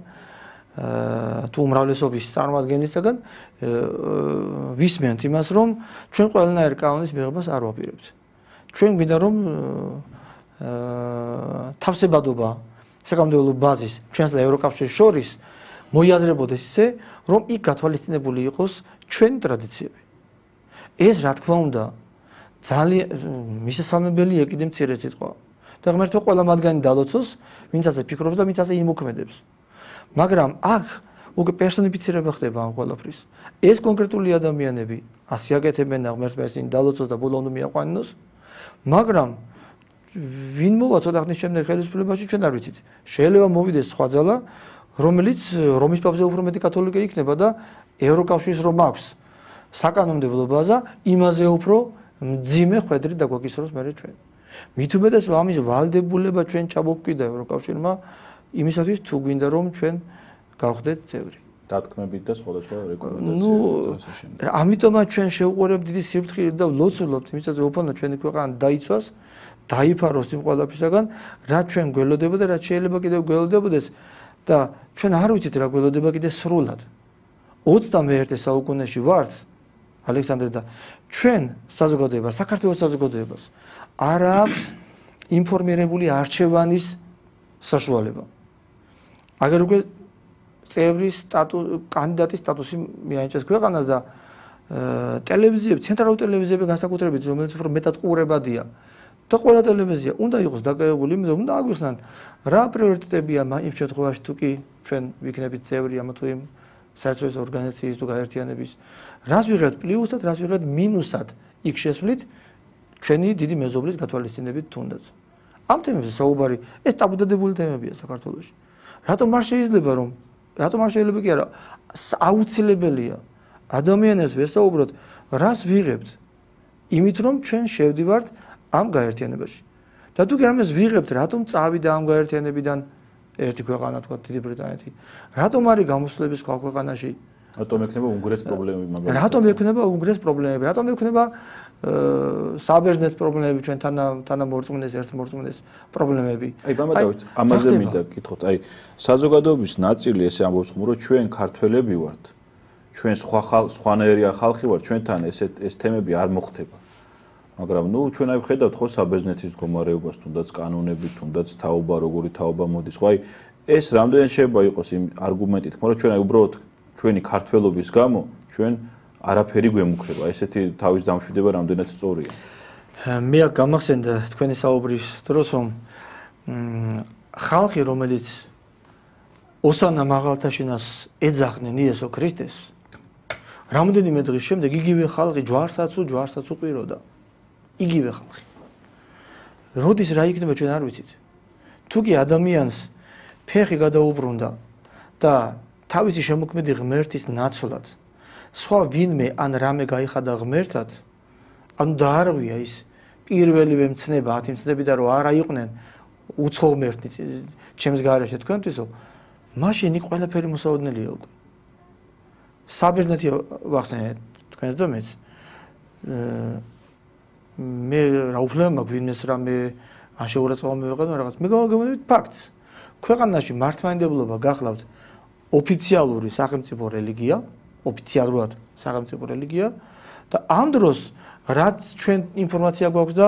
თუ უმრავლესობის წარმომადგენლისგან ვისმენთ იმას, რომ ჩვენ ყველანაირ კანონის მიღებას არ ვაპირებთ. ჩვენ გვინდა რომ თავსებადობა საკანონმდებლო ბაზის ჩვენს და ევროკავშირის შორის მოიაზრებოდეს ისე, რომ იქ გათვალისწინებული იყოს ჩვენი ტრადიციები. ეს რა თქმა უნდა ძალიან მისასალმებელი ეკიდე მცირე სიტყვა. და ღმერთო ყველა მათგანი დალოცოს, ვინც ასე ფიქრობს და ვინც ასე იმოქმედებს. მაგრამ აქ უკვე პერსონიფიცირება ხდება ამ ყველაფრის. ეს კონკრეტული ადამიანები ასე აკეთებენ და ღმერთმა ისინი დალოცოს და ბოლო უნდა მიაყვანინოს. მაგრამ ვინ მოვა ცოტა ხნის შემდეგ ხელისუფლებაში ჩვენ არ ვიცით. შეიძლება მოვიდეს სხვა ძალა, რომელიც რომის პაპზე უფრო მეტი კათოლიკე იქნება და ევროკავშირის რომ აქვს საკანონმდებლო ბაზა, იმაზე უფრო მძიმე ხვედრი დაგვაკისროს მერე ჩვენ. მით უმეტეს ამის ვალდებულება ჩვენ ჩამოვკვიდა ევროკავშირმა იმისათვის თუ გვინდა რომ ჩვენ გავხდეთ წევრი. დათქმებით და სხვადასხვა რეკომენდაციები. ამიტომაც ჩვენ შევუყურებთ დიდი სიფრთხილით და ვლოცულობთ იმისათვის უფალო ჩვენი ქვეყანა დაიცვას, დაიფაროს იმ ყველაფრისაგან, რაც ჩვენ გველოდება და რაც შეიძლება კიდევ გველოდებოდეს და ჩვენ არ ვიცით რა გველოდება კიდე სრულად. 21 საუკუნეში ვართ ალექსანდრე და ჩვენ საზოგადოება, საქართველოს საზოგადოებას არ აქვს ინფორმირებული არჩევანის საშუალება. აგერ უკვე წევრის კანდიდატის სტატუსი მიენიჭეს ქვეყანას და ტელევიზიები, ცენტრალური ტელევიზიები განსაკუთრებით, რომელიც უფრო მეტად ყურებადია და ყველა ტელევიზია უნდა იყოს დაკავებული იმაზე, უნდა აგვიხსნან რა პრიორიტეტებია იმ შემთხვევაში თუ კი ჩვენ ვიქნებით წევრი ამა თუ იმ საერთაშორისო ორგანიზაციის თუ გაერთიანების, რას ვიღებთ პლუსად, რას ვიღებთ მინუსად იქ შესვლით ჩვენი დიდი მეზობლის გათვალისწინებით თუნდაც. ამ თემებზე საუბარი ეს ტაბუდადებული თემებია საქართველოში. რატომ არ შეიძლება კი არა, აუცილებელია ადამიანებს ვესაუბროთ, რას ვიღებთ იმით რომ ჩვენ შევდივართ ამ გაერთიანებაში. და თუ კი ამას ვიღებთ, რატომ წავიდა ამ გაერთიანებიდან ერთი ქვეყანა, თქვა დიდი ბრიტანეთი. რატომ არის გამოსვლების სხვა ქვეყანაში? რატომ ექნება უნგრეთის პრობლემები მაგალითად? რატომ ექნება უნგრეთის პრობლემები? რატომ ექნება საბერძნეთის პრობლემები ჩვენ თანამორწმუნეს, ერთმორწმუნეს პრობლემები? აი, ბამადავით, ამაზე მინდა გითხოთ. აი, საზოგადოების ნაწილი ესე ამბობს, რომ ჩვენ ქართველები ვართ. ჩვენ სხვანაირია ხალხი ვართ, ჩვენთან ეს თემები არ მოხდება. მაგრამ ჩვენ აი ვხედავთ ხო საბერძნეთის მდგომარეობას, თუნდაც კანონები, თუნდაც თაობა, როგორი თაობა მოდის. ხო აი, ეს რამდენი შეიძლება იყოს იმ არგუმენტი, თქმა რომ ჩვენ აი უბრალოდ ჩვენი ქართველობის გამო ჩვენ არაფერი გვემუქრება. ესეთი თავის დამშვიდება რამდენად სწორია. მე აქ გამახსენდა თქვენი საუბრის დროს, რომ ხალხი, რომელიც ოსანა მაღალთაშინას ეძახდნენ იესო ქრისტეს, რამდენიმე დღის შემდეგ იგივე ხალხი ჯვარსაც უყვიროდა. იგივე ხალხი. როდის რა იქნება ჩვენ არ ვიცით. თუ კი ადამიანს ფეხი გადაუბრუნდა და თავისი შემოქმედი ღმერთის ნაცვლად სხვა ვინმე ან რამე გაიხადა ღმერთად, ანუ დაარღვია ის პირველივე მცნება, 10 მცნებიდან რომ არა იყვნენ უცხო ღმერთი ჩემს გარეშე თქვენთვისო, მაშინ იქ ყველაფერი მოსაოდნელია უკვე. საბერძნეთი ვახსენეთ თქვენს და მეც. მე რა უფლება მაქვს ვინმეს რამე ან შეურაცხყოფა მივეყენო რაღაც. მე გავაგებინებთ ფაქტს. ქვეყანაში მართლმადიდებლობა გახლავთ ოფიციალური სახელმწიფო რელიგია, ოფიციალურად სახელმწიფო რელიგია და ამ დროს რაც ჩვენ ინფორმაცია გვაქვს და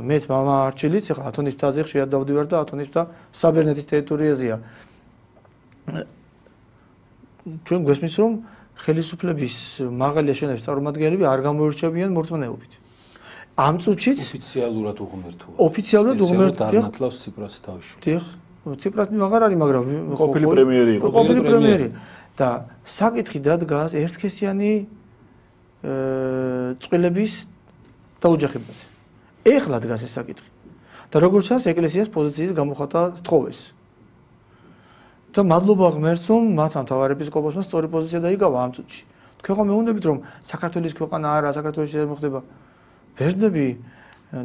მეც მამა არჩილიც ახლა ათონის მთაზე ხშირად დავდივარ და ათონის მთა საბერძნეთის ტერიტორიაზეა. ჩვენ გვესმის რომ ხელისუფლების მაღალი აშენების წარმომადგენლები არ გამოირჩევიან მორწმუნეობით. ამ წუთშიც ოფიციალურად უღმერთოა. ოფიციალურად უღმერთოა. არნათლავს ციპრასი თავში. დიახ, ციპრასი აღარ არის, მაგრამ ყოფილი პრემიერი იყო. ყოფილი პრემიერი და საკითხი დადგას ერთსქესიანი წყვილების დაოჯახებაზე. ეხლა დგას ეს საკითხი. და როგორც ჩანს, ეკლესიას პოზიციის გამოხატვა სთხოვეს. და მადლობა ღმერთს, რომ მათთან თავარეპისკოპოსმა სწორი პოზიცია დაიკავა ამ წუთში. თქვენ ხომ მეუბნებით, რომ საქართველოს ქვეყანა არა, საქართველოში არ მოხდება. ბერძნები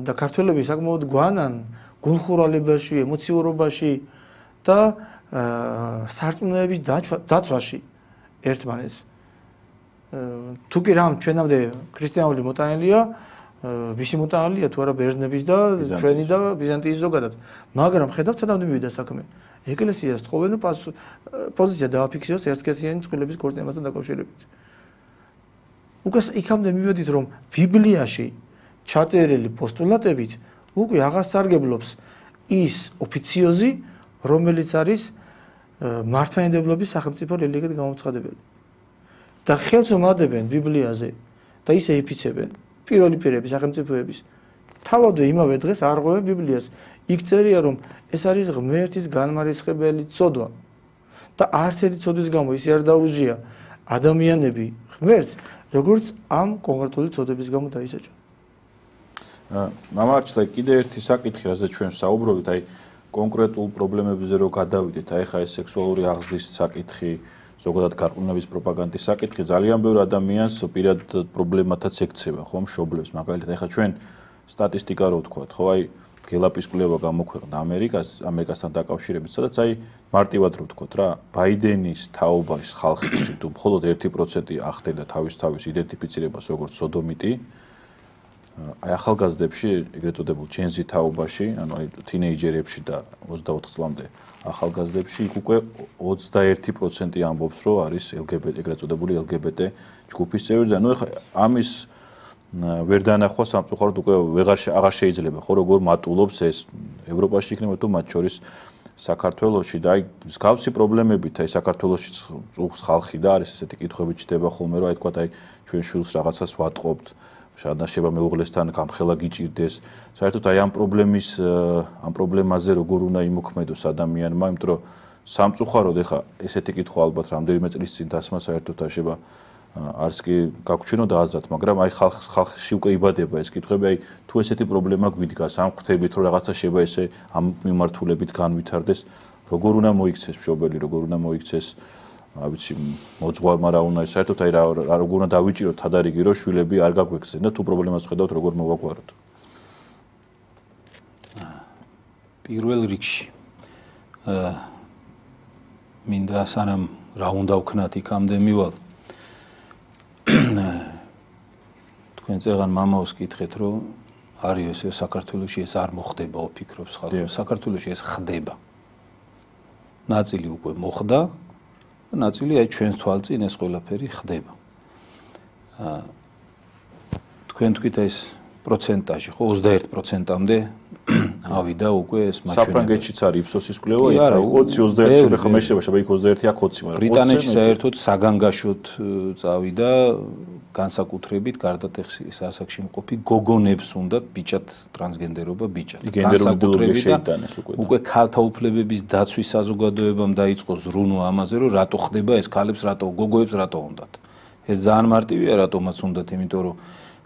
და ქართველები საკმაოდ გვანან გულხურალებაში, ემოციურობაში და სარწმუნოების დაცვაში ერთმანეთს. თუ კი რამ ჩვენამდე ქრისტიანული მოტანილია, ვისი მოტანილია თუ არა ბერძნების და ჩვენი და ბიზანტიის ზოგადად. მაგრამ ხედავთ სანამ მივიდა საქმე. ეკლესიას თხოვენ პოზიცია დააფიქსიროს ერთსქესიანი წყვილების ქორწინებასთან დაკავშირებით. უკვე იქამდე მივედით, რომ ბიბლიაში ჩაწერილი პოსტულატებით უკვე აღასარგებლობს ის ოფიციოზი, რომელიც არის მართლმადიდებლობის სახელმწიფო რელიგიად გამოცხადებელი. და ხელს უმადებენ ბიბლიაზე და ისე იფიცებენ პირველი პირები სახელმწიფოების. თავადვე იმავე დღეს არღვევენ ბიბლიას. იქ წერია, რომ ეს არის ღმერთის განმარისხებელი ცოდვა და არც ერთი ცოდვის გამო ისე არ დაუჟია ადამიანები ღმერთს, როგორც ამ კონკრეტული ცოდების გამო დაისაჯა. მამარჩლე, კიდე ერთი საკითხი, რაზეც ჩვენ საუბრობთ, აი კონკრეტულ პრობლემებზე რო გადავიდეთ, აი ხა ეს სექსუალური აღზრდის საკითხი, ზოგადად გარყვნების პროპაგანდის საკითხი, ძალიან ბევრ ადამიანს პირად პრობლემათაც ექცევა, ხო, მშობლებს, მაგალითად, აი ხა ჩვენ სტატისტიკა რო ვთქვათ, ხო, აი გელაპის კვლევა გამოქვეყნდა ამერიკასთან დაკავშირებით, სადაც აი მარტივად რო ვთქვათ რა, ბაიდენის თაობის ხალხში თუ მხოლოდ 1% ახდენდა თავის იდენტიფიცირებას როგორც სოდომიტი, აი ახალგაზრდებში, ეგრეთ წოდებულ ჯენზი თაობაში, ანუ აი თინეიჯერებში და 24 წლამდე ახალგაზრდებში იქ უკვე 21% ამბობს, რომ არის LGBT, ეგრეთ წოდებული LGBT ჯგუფის წევრი და ნუ ეხლა ამის ვერ დანახვა სამწუხაროდ უკვე აღარ შეიძლება, ხო, როგორ მატულობს ეს ევროპაში იქნება თუ მათ შორის საქართველოში და აი მსგავსი პრობლემებით აი საქართველოში წუხს ხალხი და არის ესეთი კითხვები ჩდება ხოლმე, რომ აი თქვა აი ჩვენ შვილს რაღაცას ვატყობთ, შადნაშება მეუღლესთან გამხელა გიჭირდეს. საერთოდ აი ამ პრობლემაზე როგორ უნდა იმოქმედოს ადამიანმა, იმიტომ რომ სამწუხაროდ ეხა ესეთი კითხვა ალბათ რამდენიმე წლის წინ დასმა საერთოდ აშება არც კი გაგვჩვენოდა აზრად, მაგრამ აი ხალხში უკვე იბადება ეს კითხვები, აი თუ ესეთი პრობლემა გვიდგას ამ ღვთებით, რომ რაღაცა შევა ესე ამ მიმართულებით განვითარდეს, როგორ უნდა მოიქცეს მშობელი, როგორ უნდა მოიქცეს, აი ვიცი, მოძღვარმა რა უნდა, საერთოდ აი რა როგორ უნდა დავიჭიროთ თადარიგი, რომ შვილები არ გაგვექცენ და თუ პრობლემას ხედავთ, როგორ მოვაგვაროთ. პირველ რიგში მინდა სანამ რა უნდა ვქნათ იქამდე მივალ თქვენ წეგან მამაოს კითხეთ, რომ არის ეს საქართველოში ეს არ მოხდება, ვფიქრობს ხალხი. საქართველოში ეს ხდება. ნაწილი უკვე მოხდა, ნაწილი აი ჩვენს თვალწინ ეს ყველაფერი ხდება. თქვენ თქვით ეს პროცენტაჟი, ხო 21%-მდე ავიდა უკვე ეს მაჩვენებელი. საფრანგეთშიც არის იფსოსის კვლევა, იქ 20-21 ხა მე შევა, იქ 21 აქ 20, მაგრამ ბრიტანეთში საერთოდ საგანგაშოდ წავიდა განსაკუთრებით გარდატეხის ასაკში მყოფი გოგონებს უნდათ ბიჭად ტრანსგენდერობა ბიჭად. განსაკუთრებით შეიტანეს უკვე ქალთა უფლებების დაცვის საზოგადოებამ დაიწყო ზრუნვა ამაზე, რომ რატო ხდება ეს ქალებს, რატო გოგოებს რატო უნდათ. ეს ძალიან მარტივია, რატომაც უნდათ, იმიტომ რომ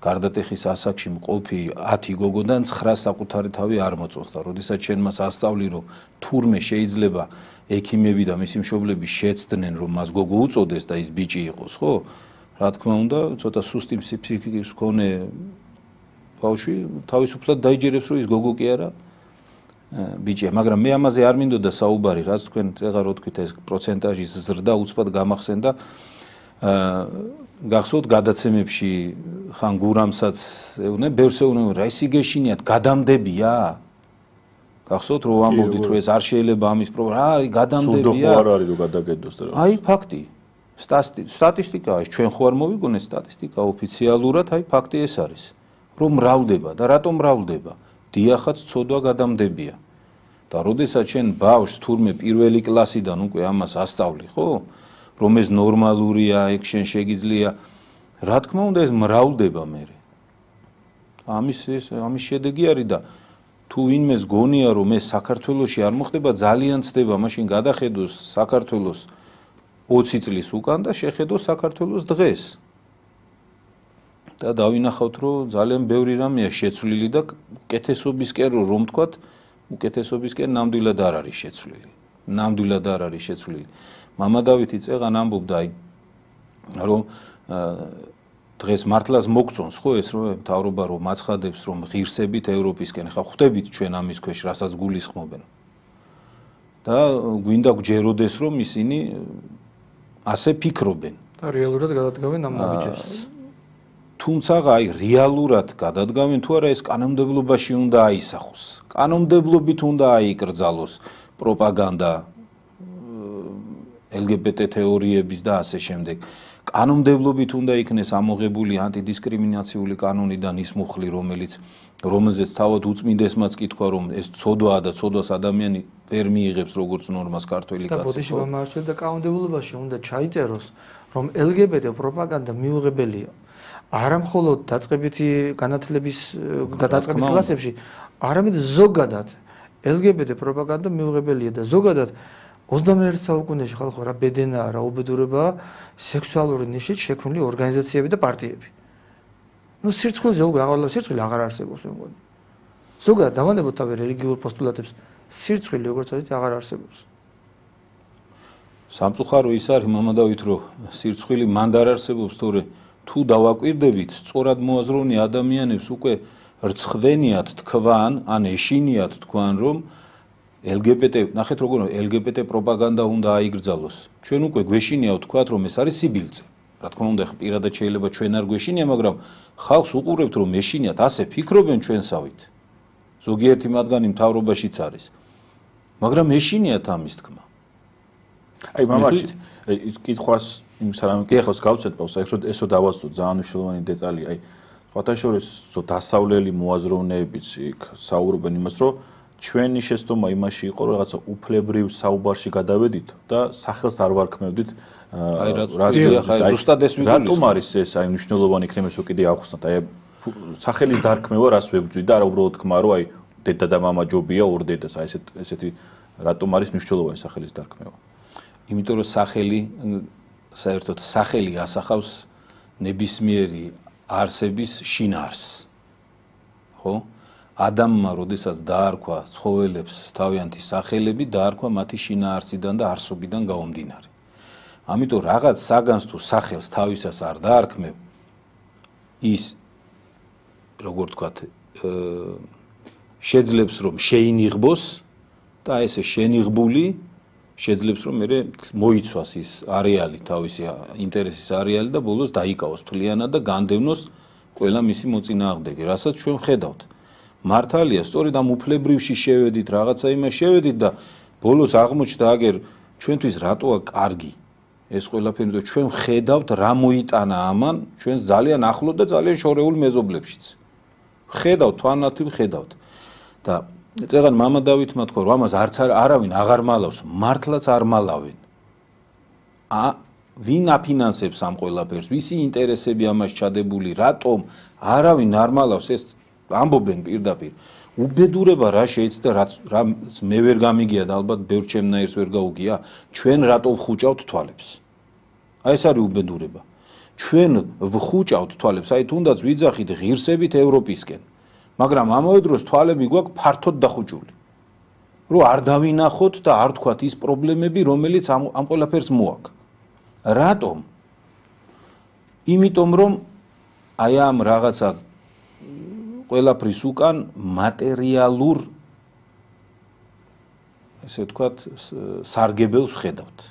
გარდატეხის ასაკში მყოფი 10 გოგოდან 9 საკუთარი თავი არ მოწონს და როდესაც შენ მას ასწავლი, რომ თურმე შეიძლება ექიმები და მისი მშობლები შეცდნენ, რომ მას გოგო უწოდეს და ის ბიჭი იყოს, ხო? რა თქმა უნდა, ცოტა სუსტი ფსიქიკის მქონე ბავშვი თავისუფლად დაიჯერებს, რომ ის გოგო კი არა ბიჭია, მაგრამ მე ამაზე არ მინდოდა საუბარი, რაც თქვენ წეღა რო თქვით ეს პროცენტაჟის ზრდა უცბად გამახსენდა. გახსოვთ გადაცემებში ხან გურამსაც ეუბნე, ბევრს ეუბნე, რა ისე გეშინიათ, გადამდებია? გახსოვთ რომ ამბობდით, რომ ეს არ შეიძლება ამის პრობლემა, არის გადამდებია? სულ ხო არ არის რომ გადაგედოს და რა. აი ფაქტი. სტატისტიკაა ეს, ჩვენ ხო არ მოვიგონეთ სტატისტიკა ოფიციალურად, აი ფაქტი ეს არის, რომ მრავლდება და რატომ მრავლდება? დიახაც ცოდვა გადამდებია. და როდესაც შენ ბავშვს თურმე პირველი კლასიდან უკვე ამას ასწავლი, ხო? რომ ეს ნორმალურია, ეგ შენ შეგიძლია, რა თქმა უნდა ეს მრავლდება მერე. ამის შედეგი არის და თუ ვინმეს გონია რომ ეს საქართველოში არ მოხდება, ძალიან ცდება, მაშინ გადახედოს საქართველოს 20 წლის უკან და შეხედოს საქართველოს დღეს. და დავინახავთ, რომ ძალიან ბევრი რამეა შეცვლილი და უკეთესობისკენ რომ თქვათ, უკეთესობისკენ ნამდვილად არ არის შეცვლილი. ნამდვილად არ არის შეცვლილი. მამა დავითი წეღან ამბობდა, რომ დღეს მართლაც მოგწონს ხო ეს რომ მთავრობა რომ მაცხადებს რომ ღირსებით ევროპისკენ ხა ხვდებით ჩვენ ამის ქვეშ რასაც გულისხმობენ და გვინდა გჯეროდეს რომ ისინი ასე ფიქრობენ და რეალურად გადადგავენ ამ ნაბიჯებს თუმცა აი რეალურად გადადგავენ თუ არა ეს კანონმდებლობაში უნდა აისახოს კანონმდებლობით უნდა აიკრძალოს პროპაგანდა LGBT თეორიების და ასე შემდეგ კანონმდებლობით უნდა იქნეს ამოღებული ანტიდისკრიმინაციული კანონიდან ის მუხლი რომელზეც თავად უწმინდესმაც კითხვა რომ ეს ცოდვაა და ცოდვას ადამიანი ვერ მიიღებს როგორც ნორმას ქართველი კაცი. და ბოდიში მომარჩეთ და კანონმდებლობაში უნდა ჩაიწეროს რომ LGBT პროპაგანდა მიუღებელია. არა მხოლოდ დაწყებითი განათლების დაწყებით კლასებში, არამედ ზოგადად LGBT პროპაგანდა მიუღებელია და ზოგადად 21 საუკუნეში ხალხო რა ბედენაა, რა უბედურებაა სექსუალური ნიშით შექმნილი ორგანიზაციები და პარტიები. ნუ სირცხვილზე უკვე სირცხვილი აღარ არსებობს მე მგონი. ზოგადად დავანებოთ თავი რელიგიურ პოსტულატებს, სირცხვილი როგორც ასეთი აღარ არსებობს. სამწუხარო ის არის მამა დავით რომ სირცხვილი მანდ არ არსებობს, თორე თუ დავაკვირდებით, სწორად მოაზროვნე ადამიანებს უკვე რცხვენიათ თქვან, ან ეშინიათ თქვან რომ LGBT, ნახეთ როგორ LGBT პროპაგანდა უნდა აიგრძალოს. ჩვენ უკვე გვეშინია ვთქვათ, რომ ეს არის სიბილწე. რა თქმა უნდა, პირადად შეიძლება ჩვენ არ გვეშინია, მაგრამ ხალხს უყურებთ, რომ ეშინიათ, ასე ფიქრობენ ჩვენსავით. ზოგიერთი მათგანი მთავრობაშიც არის. მაგრამ ეშინიათ ამის თქმა. აი, მამაჩი, ის კითხვას იმ სარამე კითხავს გავცეთ პავს, ესო დავასწოთ ძალიან მნიშვნელოვანი დეტალი. აი, სხვათა შორის დასავლელი მოაზროვნეებიც იქ საუბრობენ იმას, რომ ჩვენი შეცდომა იმაში იყო რომ რაღაცა უფლებრივ საუბარში გადავედით და სახელს არ ვარქმევდით აი რა ზუსტად ეს ვიგულისხმობ რატომ არის ეს აი მნიშვნელოვანი იქნება ეს უკიდე ახსნათ აი სახელის დარქმევა რას ვებძვით და არა უბრალოდ თქმა რომ აი დედა და მამა ჯობია ორ დედას აი ესეთი რატომ არის მნიშვნელოვანი სახელის დარქმევა იმიტომ რომ სახელი საერთოდ სახელი ასახავს ნებისმიერი არსების შინაარსს ხო ადამიანმა, როდესაც დაარქვა ცხოველებს თავიანთი სახელები, დაარქვა მათი შინაარსიდან და არსობიდან გამომდინარე. ამიტომ რაღაც საგანს თუ სახელს თავისას არ დაარქმევ, ის როგორ ვთქვათ, შეძლებს რომ შეინიღბოს და ესე შენიღბული შეძლებს რომ მე მოიცვას ის არეალი თავისი ინტერესის არეალი და ბოლოს დაიკავოს თლიანად და განდევნოს ყველა მისი მოწინააღმდეგე, რასაც ჩვენ ხედავთ. მართალია, სწორედ ამ უფლებრივში შევედით, რაღაცა იმას შევედით და ბოლოს აღმოჩნდა აგერ ჩვენთვის რატოა კარგი ეს ყველაფერი, რომ ჩვენ ხედავთ რა მოიტანა ამან ჩვენს ძალიან ახლო და ძალიან შორეულ მეზობლებშიც. ხედავთ, თვალნათლივ ხედავთ. და წეგან მამა დავითმა თქვა, რომ ამას არც არავინ აღარ მალავს, მართლაც არ მალავენ. ვინ აფინანსებს ამ ყველაფერს, ვისი ინტერესები ამას ჩადებული, რატომ არავინ არ მალავს ეს ამბობენ პირდაპირ უბედურება რა შეიცდა რა მე ვერ გამიგია და ალბათ ბევრ ჩემნაირს ვერ გაუგია ჩვენ რატო ვხუჭავთ თვალებს აი ეს არის უბედურება ჩვენ ვხუჭავთ თვალებს აი თუნდაც ვიძახით ღირსებით ევროპისკენ მაგრამ ამავე დროს თვალები გვაქვს ფართოდ დახუჭული რომ არ დავინახოთ და არ თქვათ ის პრობლემები რომელიც ამ ყველაფერს მოაქვს რატომ იმიტომ რომ აი ამ რაღაცა ყველაფრის უკან მატერიალურ ესე ვთქვათ სარგებელს ხედავთ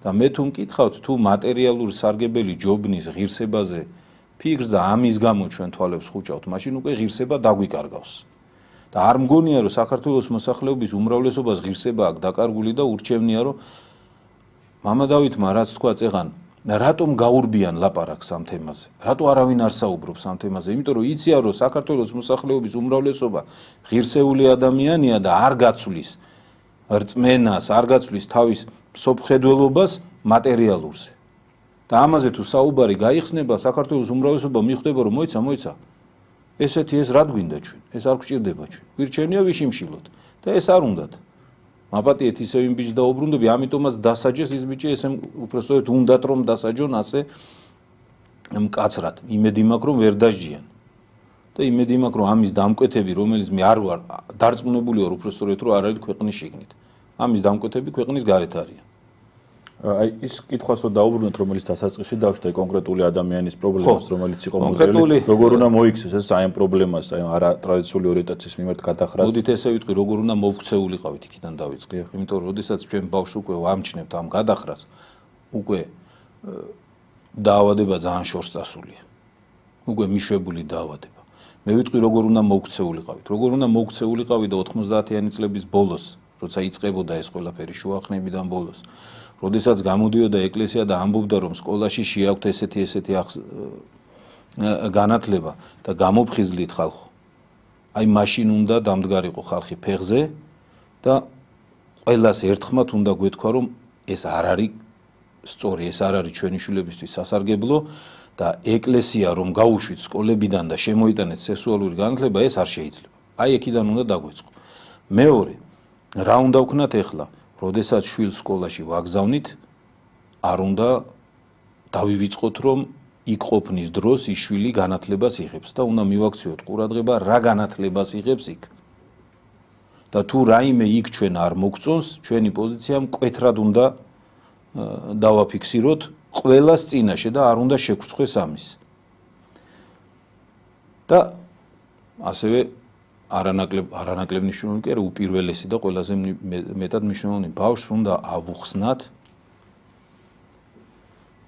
და მე თუ მკითხავთ თუ მატერიალური სარგებელი ჯობნის ღირსებაზე ფიქრს და ამის გამო ჩვენ თვალებს ხუჭავთ მაშინ უკვე ღირსება დაგვიკარგავს და არ მგონია რომ საქართველოს მოსახლეობის უმრავლესობას ღირსება აქვს დაკარგული და ურჩევნია რომ მამა დავითმა რაც თქვა წეღან რატომ გაურბიან ლაპარაკს ამ თემაზე? რატო არავინ არ საუბრობს ამ თემაზე? იმიტომ რომ იციან რომ საქართველოს მოსახლეობის უმრავლესობა ღირსეული ადამიანია და არ გაცვლის რწმენას, არ გაცვლის თავის სოფხედველობას მატერიალურზე. და ამაზე თუ საუბარი გაიხსნება, საქართველოს უმრავლესობა მიხვდება რომ მოიცა ესეთი ეს რა გვინდა ჩვენ? ეს არ გვჭირდება ჩვენ. გვირჩენია ვიშიმშილოთ და ეს არ უნდათ. მაპატიეთ ისევ იმ ბიჭს დაუბრუნდები, ამიტომაც დასაჯეს ის ბიჭი, ესე უბრალოდ უნდათ რომ დასაჯონ ასე მკაცრად, იმედი მაქვს რომ ვერ დასჯიან. და იმედი მაქვს რომ ამის დამკვეთები, რომელიც მე არ ვარ დარწმუნებული ვარ უბრალოდ რომ არ არის ქვეყნის შიგნით. ამის დამკვეთები ქვეყნის გარეთ არიან. აი ის კითხვას რომ დაუბრუნოთ, რომელიც დასაწყისში დავშთა კონკრეტული ადამიანის პრობლემას, რომელიც იყო მოძრაული, როგორ უნდა მოიქცეს ეს აი ამ პრობლემას, აი არა ტრადიციული ორიენტაციის მიმართ გადახრას. მოდით ესე ვიტყვი, როგორ უნდა მოვქცეულიყავით იქიდან დავიწყე. იმიტომ რომ შესაძაც ჩვენ ბავშვს უკვე ვამჩნევთ ამ გადახრას, უკვე დაავადება ძალიან შორს წასულია. უკვე მიშვებული დაავადება. მე ვიტყვი როგორ უნდა მოვქცეულიყავით. როგორ უნდა მოვქცეულიყავით და 90-იანი წლების ბოლოს, როცა იწყებოდა ეს ყველაფერი შუახნებიდან ბოლოს. როდესაც გამოდიოდა ეკლესია და ამბობდა რომ სკოლაში შეაქვთ ესეთი განათლება და გამოფხიზლით ხალხო. აი მაშინ უნდა დამდგარიყო ხალხი ფეხზე და ყველას ერთხმად უნდა გვეთქვა რომ ეს არ არის სწორი, ეს არ არის ჩვენი შვილებისთვის სასარგებლო და ეკლესია რომ გაუშვით სკოლებიდან და შემოიტანეთ სექსუალური განათლება, ეს არ შეიძლება. აი აქედან უნდა დაგვეწყო. მეორე, რა უნდა ვქნათ ახლა? როდესაც შვილს სკოლაში ვაგზავნით, არ უნდა დავივიწყოთ რომ იქ ყოფნის დროს ის შვილი განათლებას იღებს და უნდა მივაქციოთ ყურადღება რა განათლებას იღებს იქ. და თუ რაიმე იქ ჩვენ არ მოგწონს, ჩვენი პოზიცია მკვეთრად უნდა დავაფიქსიროთ ყველას წინაშე და არ უნდა შეგვწყვეს ამის. და ასევე არანაკლებ მნიშვნელოვანი კი არა, უპირველესი და ყველაზე მეტად მნიშვნელოვანი ბავშვს უნდა ავუხსნათ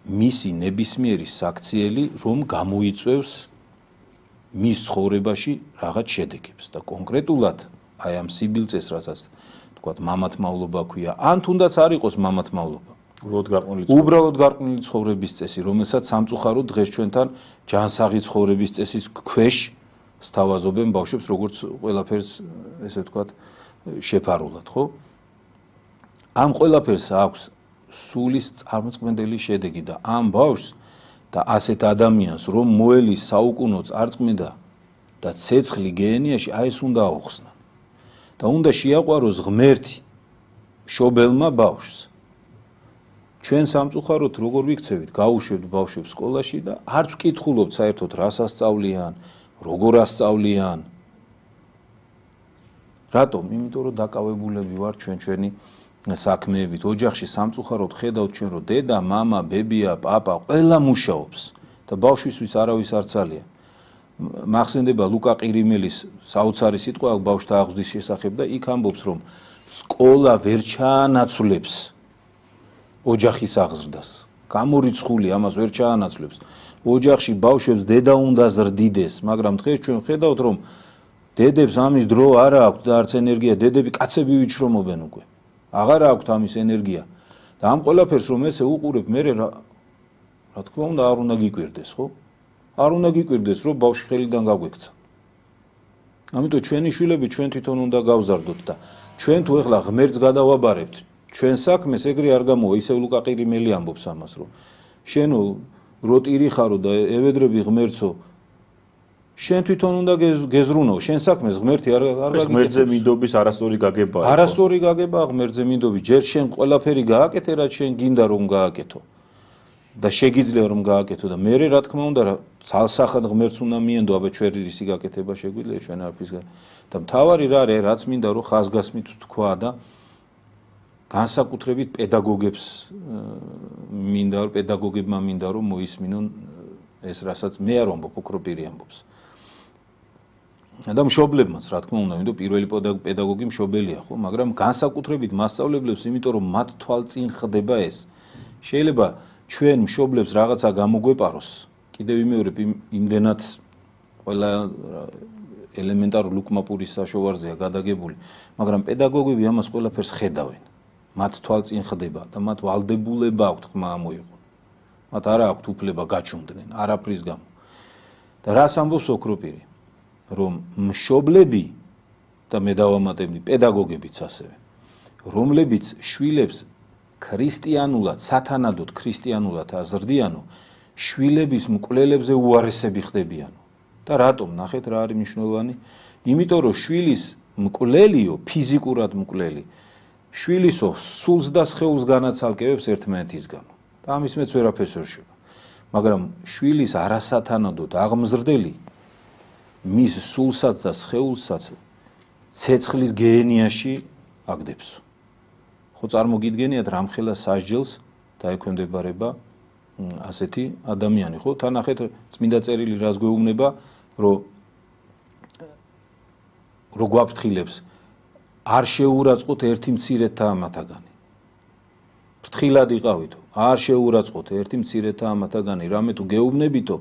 მისი ნებისმიერი საქციელი, რომ გამოიწვევს მის ცხოვრებაში რაღაც შედეგებს და კონკრეტულად აი ამ სიბილწეს, რასაც თქვათ მამათმავლობა ქვია, ან თუნდაც არ იყოს მამათმავლობა. უბრალოდ გარყვნილი ცხოვრების წესი, რომელსაც სამწუხაროდ დღეს ჩვენთან ჯანსაღი ცხოვრების წესის ქვეშ სთავაზობენ ბავშვებს, როგორც ყველაფერს ესე ვთქვათ შეფარულად, ხო? ამ ყველაფერს აქვს სულის წარმოწმენდელი შედეგი და ამ ბავშვს და ასეთ ადამიანს რომ მოელის საუკუნო წარწმიდა და ცეცხლი გეენიაში აი ეს უნდა აუხსნა. და უნდა შეაყვაროს ღმერთი მშობელმა ბავშვს. ჩვენ სამწუხაროდ როგორ ვიქცევით, გაუშვებთ ბავშვებს სკოლაში და არც ვკითხულობთ საერთოდ რას ასწავლიან, როგორ ასწავლიან. რატომ? იმიტომ რომ დაკავებულები ვართ ჩვენი საქმეებით. ოჯახში სამწუხაროდ ხედავთ ჩვენ რომ დედა, მამა, ბებია, პაპა ყველა მუშაობს და ბავშვისთვის არავის არ ცალია. მახსენდება ლუკა ყირიმელის საოცარი სიტყვა ბავშვთა აღზრდის შესახებ და იქ ამბობს რომ სკოლა ვერ ჩაანაცვლებს ოჯახის აღზრდას. გამორიცხული ამას ვერ ჩაანაცვლებს. ოჯახში ბავშვებს დედა უნდა ზრდიდეს, მაგრამ დღეს ჩვენ ხედავთ რომ დედებს ამის დრო არ აქვს და არც ენერგია, დედები კაცები ვიჩრომობენ უკვე. აღარ აქვს ამის ენერგია. და ამ ყველაფერს რომ ესე უყურებ, მე რა თქმა უნდა არ უნდა გიკვირდეს, ხო? არ უნდა გიკვირდეს, რომ ბავშვი ხელიდან გაგვექცა. ამიტომ ჩვენი შვილები ჩვენ თვითონ უნდა გავზარდოთ და ჩვენ თუ ეხლა ღმერთს გადავაბარებთ, ჩვენ საქმეს ეგრე არ გამოვა, ისევ ლუკა ყირიმელი ამბობს ამას, რომ შენო როტირი ხარო და ევედრები ღმერთსო, შენ თვითონ უნდა გეზრუნო, შენ საქმეს ღმერთი არ გაგიკეთებს. ღმერთზე მინდობის არასწორი გაგებაა. არასწორი გაგებაა ღმერთზე მინდობის, ჯერ შენ ყველაფერი გააკეთე, რაც შენ გინდა რომ გააკეთო. და შეგიძლია რომ გააკეთო და მე რა თქმა უნდა ცალსახად ღმერთს უნდა მიენდო, აბა ჩვენ რისი გაკეთება შეგვიძლია ჩვენ არაფრის და მთავარი რა არის, რაც მინდა რომ ხაზგასმით თქვა და განსაკუთრებით პედაგოგებს მინდა რომ პედაგოგებმა მინდა რომ მოისმინონ ეს რასაც მე არ ვამბობ, ოქროპირი ამბობს. და მშობლებმაც რა თქმა უნდა, იმიტომ პირველი პედაგოგი მშობელია, ხო, მაგრამ განსაკუთრებით მასწავლებლებს, იმიტომ რომ მათ თვალწინ ხდება ეს. შეიძლება ჩვენ მშობლებს რაღაცა გამოგვეპაროს, კიდევ მეორე იმდენად ყველა ელემენტარულ უკმაპურის საშოვარზეა გადაგებული, მაგრამ პედაგოგები ამას ყველაფერს ხედავენ. მათ თვალწინ ხდება და მათ ვალდებულება აქვთ ხმა ამოიღონ. მათ არ აქვთ უფლება გაჩუნდნენ არაფრის გამო. და რას ამბობს ოქროპირი? რომ მშობლები და მე დავამატებდი პედაგოგებიც ასევე, რომლებიც შვილებს ქრისტიანულად, სათანადოდ ქრისტიანულად აზრდიანო, შვილების მკვლელებზე უარესები ხდებიანო. და რატომ? ნახეთ რა არის მნიშვნელოვანი? იმიტომ რომ შვილის მკვლელიო, ფიზიკურად მკვლელი, შვილისო სულს და სხეულს განაცალკევებს ერთმანეთის გამო. და ამის მეც ვერაფერს ვერ შევა. მაგრამ შვილის არასათანადოდ აღმზრდელი მის სულსაც და სხეულსაც ცეცხლის გენიაში აგდებს. ხო წარმოგიდგენიათ რამხელა სასჯელს დაექვემდებარება ასეთი ადამიანი, ხო? თან ნახეთ წმინდა წერილი რას გვეუბნება, რომ გვაფრთხილებს არ შეურაცხყოთ ერთი მცირედაა მათაგანი. ფრთხილად იყავითო, არ შეურაცხყოთ ერთი მცირედაა მათაგანი, რამე თუ გეუბნებითო,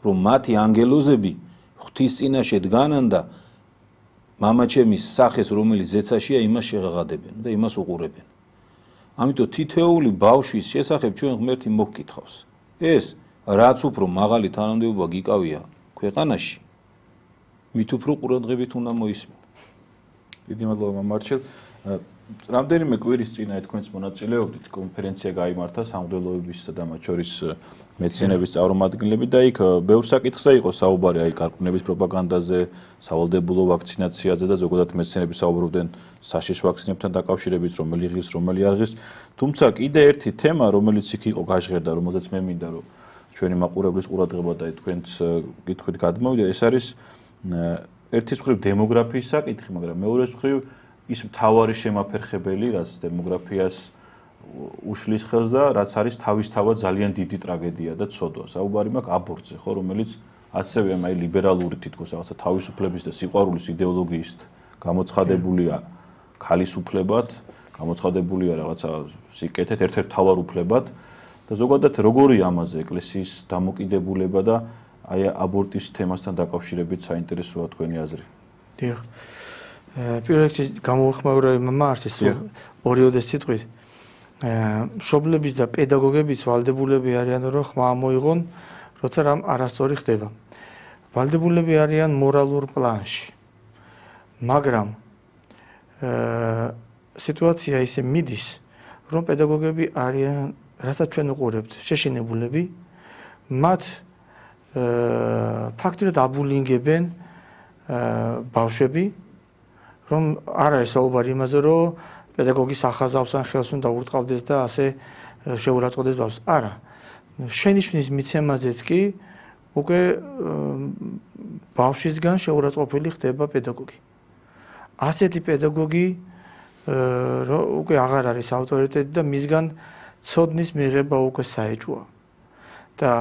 რომ მათი ანგელოზები ღვთის წინაშე დგანან და მამაჩემის სახეს, რომელიც ზეცაშია, იმას შეღაღადებენ და იმას უყურებენ. ამიტომ თითოეული ბავშვის შესახებ ჩვენ ღმერთი მოგკითხავს. ეს რაც უფრო მაღალი თანამდებობა გიკავია ქვეყანაში, მით უფრო ყურადღებით უნდა მოისმინო. დიდი მადლობა მამარჩელ. რამდენიმე კვირის წინ თქვენს მონაწილეობით კონფერენცია გაიმართა სამღვდელოებისა და მათ შორის მეცნიერების წარმომადგენლები და იქ ბევრ საკითხზე იყო საუბარი, აი გარყვნების პროპაგანდაზე, სავალდებულო ვაქცინაციაზე და ზოგადად მეცნიერები საუბრობდნენ საშიშ ვაქცინებთან დაკავშირებით, რომელი ღირს, რომელი არ ღირს. თუმცა კიდე ერთი თემა, რომელიც იქ იყო გაჟღერდა, რომელზეც მე მინდა რომ ჩვენი მაყურებლის ყურადღება და თქვენს კითხვით გადმოვიდა, ეს არის ერთის მხრივ დემოგრაფიის საკითხი, მაგრამ მეორეს მხრივ ის მთავარი შემაფერხებელი, რაც დემოგრაფიას უშლის ხელს და რაც არის თავისთავად ძალიან დიდი ტრაგედია და ცოდვა. საუბარი მაქვს აბორტზე, ხო, რომელიც ასევე აი ლიბერალური თითქოს რაღაცა თავისუფლების და სიყვარულის იდეოლოგიის გამოცხადებულია ქალის უფლებად, გამოცხადებულია რაღაცა სიკეთეთ ერთ-ერთ მთავარ უფლებად და ზოგადად როგორია ამაზე ეკლესიის დამოკიდებულება და აი აბორტის თემასთან დაკავშირებით საინტერესოა თქვენი აზრი. დიახ. პირველ რიგში გამოვხმაურე მამაართის ორიოდეს სიტყვით. მშობლების და პედაგოგების ვალდებულები არიან რომ ხმა მოიღონ, როცა რამ არასწორი ხდება. ვალდებულები არიან მორალურ პლანში. მაგრამ სიტუაცია ისე მიდის, რომ პედაგოგები არიან, რასაც ჩვენ უყურებთ, შეშინებულები, მათ ფაქტობრივად აბულინგებენ ბავშვები, რომ არ არის საუბარი იმაზე, რომ პედაგოგის ახაზავს ან ხელს უნდა ურტყავდეს და ასე შეურაცხყოფდეს ბავშვს. არა. შენიშვნის მიცემაზეც კი უკვე ბავშვისგან შეურაცხყოფილი ხდება პედაგოგი. ასეთი პედაგოგი უკვე აღარ არის ავტორიტეტი და მისგან ცოდნის მიღება უკვე საეჭვოა. და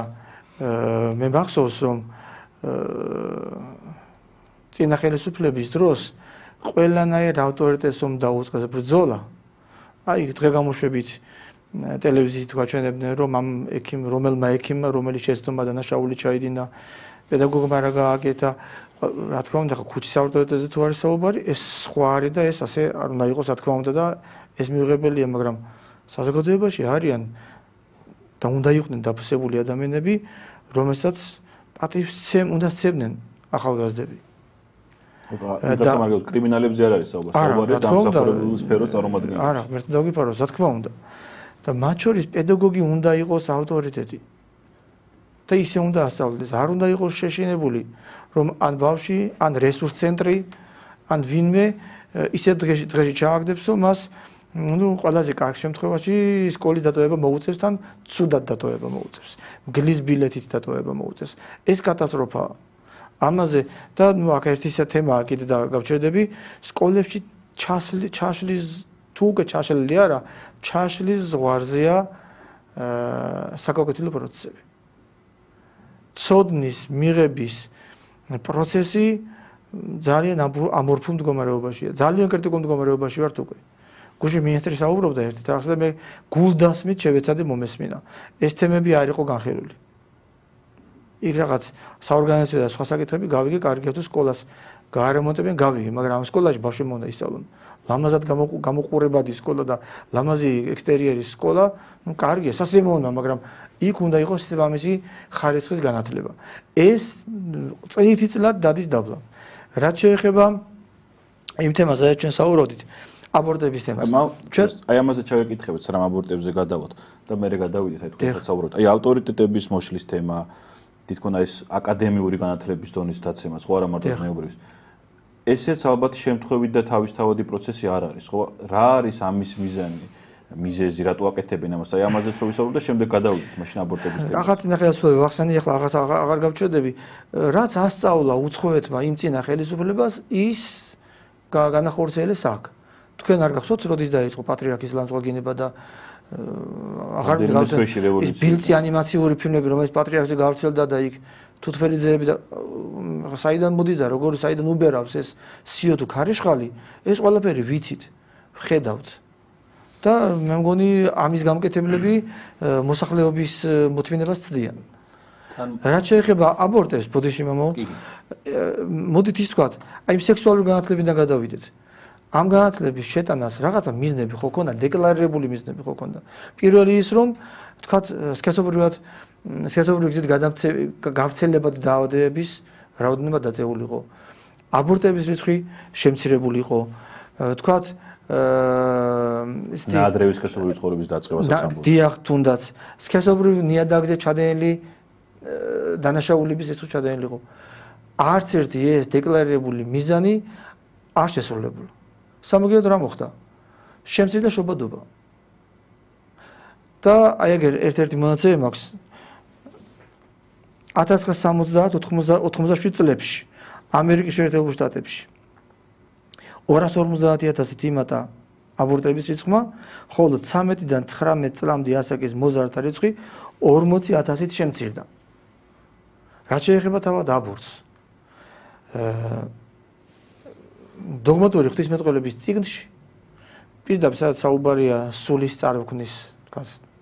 მე მახსოვს, რომ წინა ხელისუფლების დროს ყველანაირ ავტორიტეტს რომ დაუწყეს ბრძოლა, აი დღე-გამოშვებით ტელევიზიით გვაჩვენებდნენ, რომ ამ რომელმა ექიმმა, რომელიც შეცდომა დანაშაული ჩაიდინა, პედაგოგმა რა გააკეთა, რა თქმა უნდა, ქუჩის ავტორიტეტზე თუ არის საუბარი, ეს სხვა არის და ეს ასე არ უნდა იყოს, რა თქმა უნდა და ეს მიუღებელია, მაგრამ საზოგადოებაში არიან და უნდა იყვნენ დაფასებული ადამიანები, რომელსაც პატივს უნდა სცემდნენ ახალგაზრდები. და მაგალითად კრიმინალებზე არ არის საუბარი, საუბარია დამსახურებულ სფეროს წარმომადგენლებს. არა, მე დავგიფარო, რა თქმა უნდა. და მათ შორის პედაგოგი უნდა იყოს ავტორიტეტი. და ისე უნდა ასწავლდეს, არ უნდა იყოს შეშინებული, რომ ან ბავშვი, ან რესურს ცენტრი, ან ვინმე ისეთ დღეში ჩააგდებს, რომ მას ყველაზე კარგ შემთხვევაში სკოლის დატოვება მოუწევს, თან ცუდად დატოვება მოუწევს. მგლის ბილეთით დატოვება მოუწევს. ეს კატასტროფაა. ამაზე და აქ ერთი თემაა კიდე და გავჩერდები, სკოლებში ჩაშლის თუ უკვე ჩაშლილი არა, ჩაშლის ზღვარზეა საკონკრეტო პროცესები. ცოდნის მიღების პროცესი ძალიან ამორფულ მდგომარეობაშია. ძალიან კრიტიკულ მდგომარეობაში ვართ უკვე. გუშინ მინისტრი საუბრობდა ერთ რაღაცა და მე გულდასმით შევეცადე მომესმინა. ეს თემები არ იყო განხილული. იქ რაღაც საორგანიზაციო და სხვა საკითხები გავიგე, კარგია თუ სკოლას გაარემონტებენ, გავიგე, მაგრამ ამ სკოლაში ბავშვები უნდა ისწავლონ. ლამაზად გამოყურებადი სკოლა და ლამაზი ექსტერიერის სკოლა, ну კარგია, სასიამოვნოა, მაგრამ იქ უნდა იყოს ამისი ხარისხის განათლება. ეს წლით წლად დადის დაბლა. რაც შეეხება იმ თემას, რაც ჩვენ საუბრობდით, აბორტების თემას. აი ამაზე ჩავეკითხებით, სამ აბორტებზე გადავალთ და მე გადავიდეთ, აი თქვენ საუბრობთ. აი ავტორიტეტების მოშლის თემა, თითქონ ეს აკადემიური განათლების დონის დაცემა, ხო არა მარტო ზნეობრივის. ესეც ალბათ შემთხვევით და თავისთავადი პროცესი არ არის, ხო? რა არის ამის მიზანი? მიზეზი რატო აკეთებენ ამას? აი ამაზეც რო ვისაუბროთ და შემდეგ გადავიდეთ მაშინ აბორტების თემაზე. ახლა ნახე ასვევი ვახსენე, ახლა აღარ გავჩვენები, რაც ასწავლა უცხოეთმა იმ წინა ხელისუფლებას, ის განახორციელეს აქ. თქვენ არ გახსოვთ, როდის დაიწყო პატრიარქის ლანძღვა და აღარ გავხსენე ის ბილწი ანიმაციური ფილმები, რომელიც პატრიარქზე გავრცელდა და იქ თუთფერიძეები და საიდან მოდის და როგორ საიდან უბერავს ეს სიო თუ ქარიშხალი, ეს ყველაფერი ვიცით, ხედავთ. და მე მგონი ამის გამკეთებლები მოსახლეობის მოთმინებას ცდიან. რაც შეეხება აბორტებს, ბოდიში მამაო, მოდით ის თქვათ, აი სექსუალური განათლებიდან გადავიდეთ. ამ განათლების შეტანას რაღაცა მიზნები ხო ქონდა, დეკლარირებული მიზნები ხო ქონდა. პირველი ის რომ თქვათ სქესობრივი გზით გავრცელება და დაავადებების რაოდენობა დაწეულიყო. აბორტების რიცხვი შემცირებული იყო. თქვათ ნაადრევის სქესობრივი ცხოვრების დაწყებას ასამბლეა. დიახ, თუნდაც სქესობრივ ნიადაგზე ჩადენილი დანაშაულების რიცხვი ჩადენილი იყო. არც ერთი ეს დეკლარირებული მიზანი არ შესრულებულა. სამაგიეროდ რა მოხდა? შემცირდა შობადობა. და აი ეგ ერთ-ერთი მონაცემი მაქვს 1970-87 წლებში ამერიკის შეერთებულ შტატებში 250,000-ით იმატა აბორტების რიცხვმა, ხოლო 13-დან 19 წლამდე ასაკის მოზარდთა რიცხვი 40,000-ით შემცირდა. რაც შეეხება თავად აბორტს. დოგმატური ღვთისმეტყველების წიგნში პირდაპირ სადაც საუბარია სულის წარმოქმნის,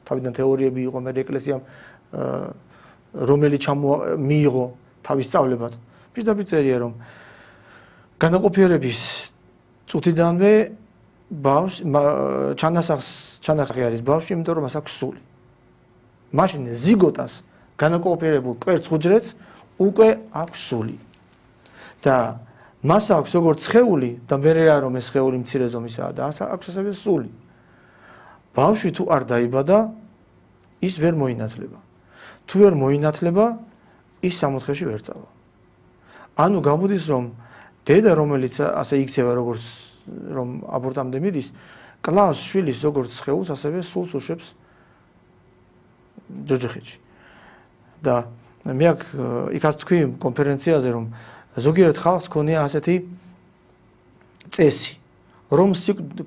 თავიდან თეორიები იყო მე ეკლესიამ რომელიც მიიღო თავის სწავლებად. პირდაპირ წერია რომ განაყოფიერების წუთიდანვე ბავშვს ჩანასახი არის ბავშვი, იმიტომ რომ მას აქვს სული. მაშინ ზიგოტას განაყოფიერებულ კვერცხ უჯრედს უკვე აქვს სული. და მას აქვს როგორც სხეული და მერე არ რომ ეს სხეული მცირე ზომისაა და აქვს ასევე სული. ბავშვი თუ არ დაიბადა, ის ვერ მოინათლება. თუ ვერ მოინათლება, ის 60-ში ვერ წავა. ანუ გამოდის რომ დედა რომელიც ასე იქცევა როგორც რომ აბორტამდე მიდის, კლავს შვილის როგორც სხეულს, ასევე სულს უშვებს ჯოჯოხეთში. და მე იქაც თქვი კონფერენციაზე რომ ზოგიერთ ხალხს ქონია ასეთი წესი, რომ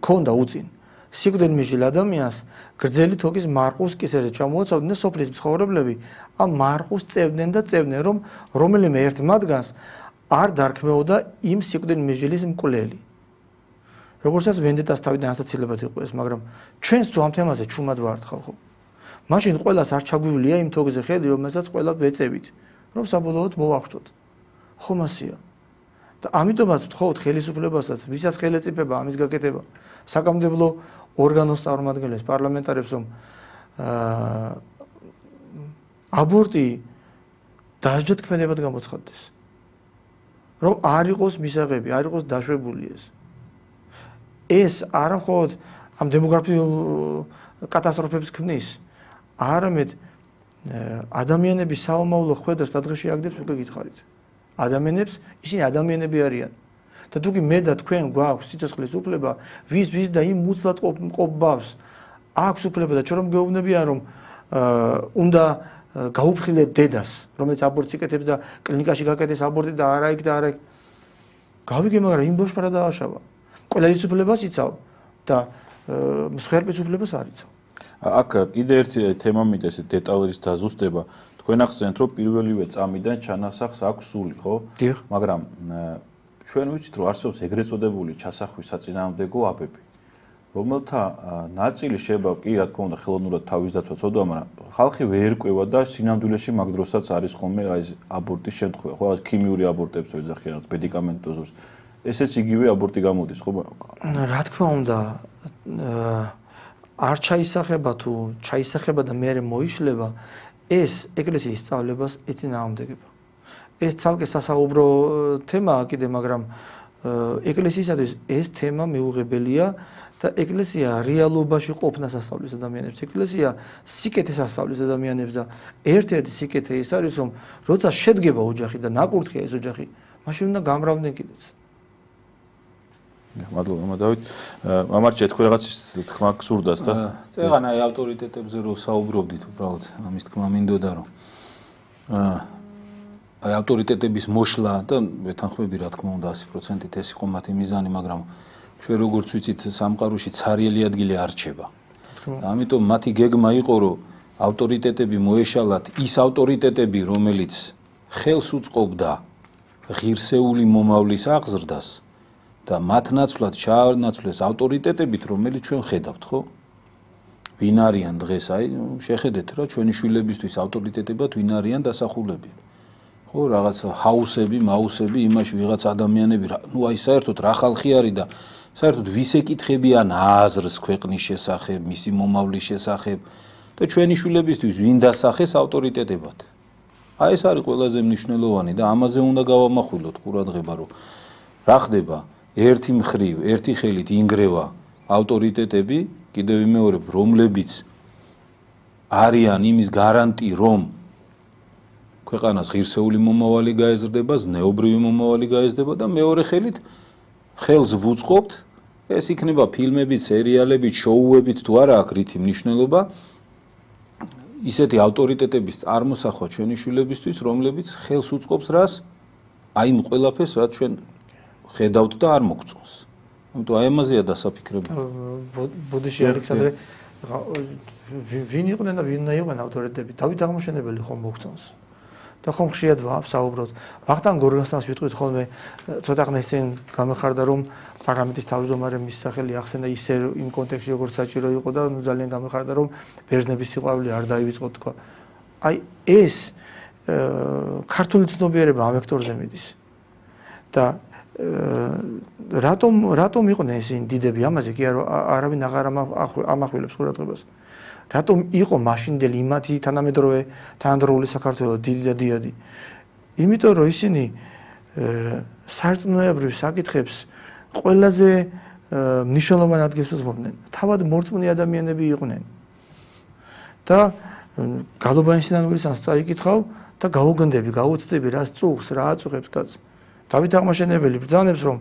ქონდა უწინ სიკვდილით მიჯილ ადამიანს გრძელი თოკის მარყუს კისერზე ჩამოუცავდნენ და სოფლის მცხოვრებლები ამ მარყუს წევდნენ და წევდნენ, რომ რომელიმე ერთ მათგანს არ დარქმეოდა იმ სიკვდილით მიჯილის მკვლელი. როგორცაც ვენდეტას თავიდან ასაცილებად იყო ეს, მაგრამ ჩვენს თუ ამ თემაზე ჩუმად ვართ ხალხო. მაშინ ყველას არ ჩაგვივლია იმ თოკზე ხედი, რომელსაც ყველა ვეწევით, რომ საბოლოოდ მოვახშოთ. ხომ ასია. და ამიტომაც ვთხოვთ ხელისუფლებასაც, ვისაც ხელეწიფება ამის გაკეთება, საკანონმდებლო ორგანოს წარმომადგენლებს, პარლამენტარებს, რომ აბორტი დასჯდქმენებად გამოცხადდეს. რომ არ იყოს მისაღები, არ იყოს დაშვებული ეს. ეს არა მხოლოდ ამ დემოგრაფიულ კატასტროფებს ქმნის, არამედ ადამიანების საომავლო ხვედრას დღეში აგდებს უკვე გითხარით. ადამიანებს, ისინი ადამიანები არიან. და თუ კი მე და თქვენ გვაქვს სიცოცხლის უფლება, ვის და იმ უცლად ყოფ ბავშვს აქვს უფლება და ჩვენ რომ გეუბნებიან რომ უნდა გაუფრთხილეთ დედას, რომელიც აბორტს იკეთებს და კლინიკაში გაკეთეს აბორტი და არა იქ და არა იქ. გავიგე, მაგრამ იმ ბავშვს რა დააშავა? ყველის უფლებას იცავ და მსხვერპლის უფლებას არ იცავ. აქ კიდე ერთი თემა მიტეს დეტალების დაზუსტება. თქვენ ახსენეთ რომ პირველივე წამიდან ჩანასახს აქვს სული, ხო? მაგრამ ჩვენ ვიცით რომ არსებობს ეგრეთ წოდებული ჩასახვის საწინააღმდეგო აბები, რომელთა ნაწილი შეიძლება კი რა თქმა უნდა ხელოვნურად თავის დაცვა ცოდვა, მაგრამ ხალხი ვერ ერკვევა და სინამდვილეში მაგ დროსაც არის ხოლმე აი აბორტის შემთხვევა, ხო? ქიმიური აბორტებს ვეძახიან, მედიკამენტოზურს. ესეც იგივე აბორტი გამოდის, ხო? რა თქმა უნდა, არ ჩაისახება თუ ჩაისახება და მე მოიშლება, ეს ეკლესიის სწავლებას ეწინააღმდეგება. ეს ცალკე სასაუბრო თემაა კიდე, მაგრამ ეკლესიისათვის ეს თემა მეუღებელია და ეკლესია რეალობაში ყოფნას ასწავლის ადამიანებს. ეკლესია სიკეთეს ასწავლის ადამიანებს და ერთ-ერთი სიკეთე ის არის, რომ როცა შედგება ოჯახი და ნაკურთხია ეს ოჯახი, მაშინ უნდა გამრავდნენ კიდეც. მადლობა დავით. მამარჩე თქვენ რაღაც თქმა გსურდათ და წეგან აი ავტორიტეტებზე რო საუბრობდით უბრალოდ ამის თქმა მინდოდა რომ აი ავტორიტეტების მოშლა და ვეთანხმები რა თქმა უნდა 100%-ით ეს იყო მათი მიზანი, მაგრამ ჩვენ როგორც ვიცით სამყაროში ცარიელი ადგილი არ რჩება. ამიტომ მათი გეგმა იყო რომ ავტორიტეტები მოეშალათ ის ავტორიტეტები რომელიც ხელს უწყობდა ღირსეული მომავლის აღზრდას და მათ ნაცვლად ჩაანაცვლეს ავტორიტეტებით რომელიც ჩვენ ხედავთ ხო? ვინ არიან დღეს აი შეხედეთ რა ჩვენი შვილებისთვის ავტორიტეტებად ვინ არიან დასახულები. ხო რაღაც ჰაუსები, მაუსები, იმაში ვიღაც ადამიანები, ნუ აი საერთოდ რა ხალხი არის და საერთოდ ვის ეკითხებიან აზრს ქვეყნის შესახებ, მისი მომავლის შესახებ და ჩვენი შვილებისთვის ვინ დასახეს ავტორიტეტებად. აი ეს არის ყველაზე მნიშვნელოვანი და ამაზე უნდა გავამახვილოთ ყურადღება რომ რა ხდება ერთი მხრივ, ერთი ხელით ინგრევა ავტორიტეტები, კიდევ ვიმეორებ, რომლებიც არიან იმის გარანტი, რომ ქვეყანას ღირსეული მომავალი გაეზრდება, ზნეობრივი მომავალი გაეზრდება და მეორე ხელით ხელს ვუწყობთ, ეს იქნება ფილმებით, სერიალებით, შოუებით თუ არა აქვს რითი მნიშვნელობა ისეთი ავტორიტეტების წარმოსახვა ჩვენი შვილებისთვის, რომლებიც ხელს უწყობს რას? აი იმ ყველაფერს, რაც ჩვენ ხედავთ და არ მოგწონს. ამიტომ აი ამაზეა დასაფიქრება. ბუდიში ალექსანდრე ვინ იყვნენ და ვინ უნდა იყვნენ ავტორიტეტები? დავით აღმაშენებელი ხომ მოგწონს? და ხომ ხშირად ვსაუბრობთ. ვახტანგ გორგასანს ვიტყვით ხოლმე ცოტა ხნის წინ გამეხარდა რომ პარლამენტის თავმჯდომარე მის სახელი ახსენა ისე იმ კონტექსტში როგორც საჭირო იყო და ძალიან გამეხარდა რომ ბერძნების სიყვარული არ დაივიწყო თქვა. აი ეს ქართული ცნობიერება ამ ვექტორზე მიდის. და რატომ იყვნენ ისინი დიდები ამაზე კი არავინ აღარ ამახვილებს ყურადღებას. რატომ იყო მაშინდელი იმათი თანამედროვე საქართველოს დიდი და დიადი? იმიტომ რომ ისინი სარწმუნოებრივ საკითხებს ყველაზე მნიშვნელოვან ადგილს უსვამდნენ. თავად მორწმუნე ადამიანები იყვნენ. და გალობანის სინანულისას წაიკითხავ და გაუგնդები, გაუცდები რა წუხს, რა აწუხებს კაცს. დავით აღმაშენებელი ბრძანებს რომ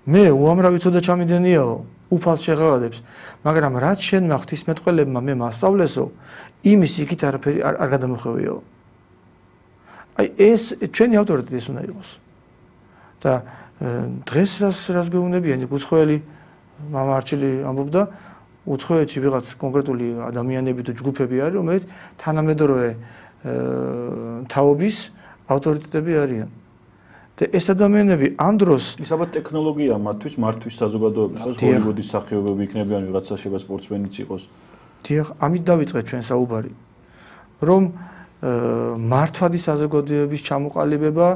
მე უამრავი ცოდა ჩამიდენიაო უფალს შეღაღადებს, მაგრამ რაც შენ მახთ მეტყველებმა მე მასწავლესო, იმის იქით არაფერი არ გადამოხვევიო. აი ეს ჩვენი ავტორიტეტი ეს უნდა იყოს. და დღეს რას გვეუბნებიან, უცხოელი მამა არჩილი ამბობდა, უცხოეთში ვიღაც კონკრეტული ადამიანები თუ ჯგუფები არის, რომელიც თანამედროვე თაობის ავტორიტეტები არიან. და ეს ადამიანები ამ დროს ის ალბათ ტექნოლოგია მათთვის მართვის საზოგადოებისთვის, ჰოლივუდის სახეობები იქნებიან, ვიღაცა შეიძლება სპორტსმენიც იყოს. დიახ, ამით დავიწყეთ ჩვენ საუბარი, რომ მართვადი საზოგადოების ჩამოყალიბება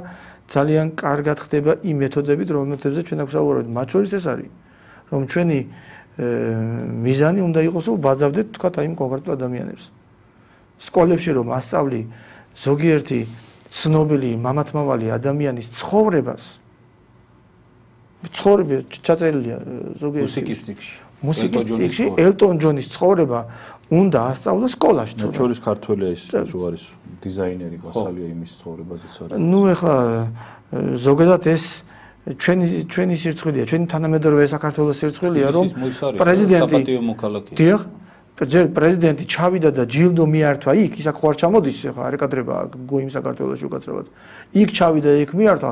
ძალიან კარგად ხდება იმ მეთოდებით, რომელთებზე ჩვენ აქ ვსაუბრობთ. მათ შორის ეს არის, რომ ჩვენი მიზანი უნდა იყოს, რომ ვაძავდეთ თქვათ აი იმ კონკრეტულ ადამიანებს. სკოლებში რომ ასწავლი ზოგიერთი ცნობილი მამათმავალი ადამიანის ცხოვრებას ჩაწერილია ზოგიერთ მუსიკის წიგნში ელტონ ჯონის ცხოვრება უნდა ასწავლოს სკოლაში. მათ შორის ქართველია ის თუ არის დიზაინერი გასალია იმის ცხოვრებაზეც არის. ნუ ეხლა ზოგადად ეს ჩვენი სირცხვილია, ჩვენი თანამედროვე საქართველოს სირცხვილია, რომ პრეზიდენტი დიახ ჯერ პრეზიდენტი ჩავიდა და ჯილდო მიართვა იქ, ის აქ ხوار ჩამოდის, ხა არ ეკადრება გოიმ საქართველოში უკაცრავად. იქ ჩავიდა, იქ მიართვა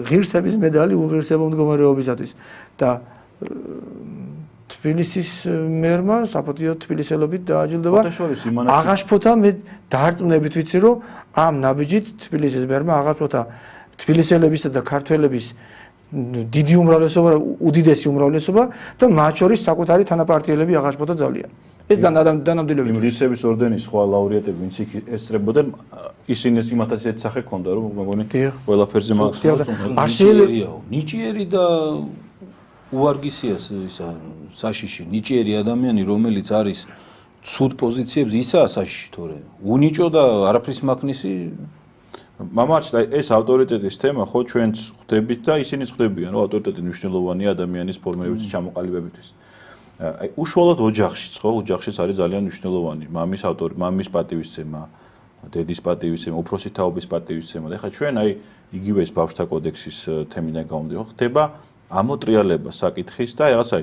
ღირსების медаლი უღირსებო მდგომარეობისათვის და თბილისის მერმა საპატიო თბილისელობით დააჯილდოვა. აღაშფოთა მე დაარწმუნებით ვიცი რომ ამ ნაბიჯით თბილისის მერმა აღაშფოთა თბილისელებისა და ქართველების დიდი უმრავლესობა, უდიდესი უმრავლესობა და მათ შორის საკუთარი თანაპარტიელები აღაშფოთა ძალიან. ეს დანამდვილებით. ღირსების ორდენის სხვა ლაურეატები, ვინც იქ ესწრებოდნენ, ისინი იმათაც ერთ სახე ჰქონდა, რომ მეგონი ყველაფერზე ნიჭიერია, ნიჭიერი და უარგისია ისა საშიში, ნიჭიერი ადამიანი, რომელიც არის ცუდ პოზიციებს, ისაა საშიში თორე. უნიჭო და არაფრის მაქნისი მამარჩ ეს ავტორიტეტის თემა ხო ჩვენც ხვდებით და ისინიც ხვდებიან რომ ავტორიტეტი მნიშვნელოვანია ადამიანის ფორმირების ჩამოყალიბებისთვის. აი უშუალოდ ოჯახშიც ხო ოჯახშიც არის ძალიან მნიშვნელოვანი მამის პატივისცემა დედის პატივისცემა, უფროსი თაობის პატივისცემა. და ეხლა ჩვენ აი იგივე ეს ბავშვთა კოდექსის თემიდან გამომდინარე, ხდება ამოტრიალება საკითხის და რაღაცა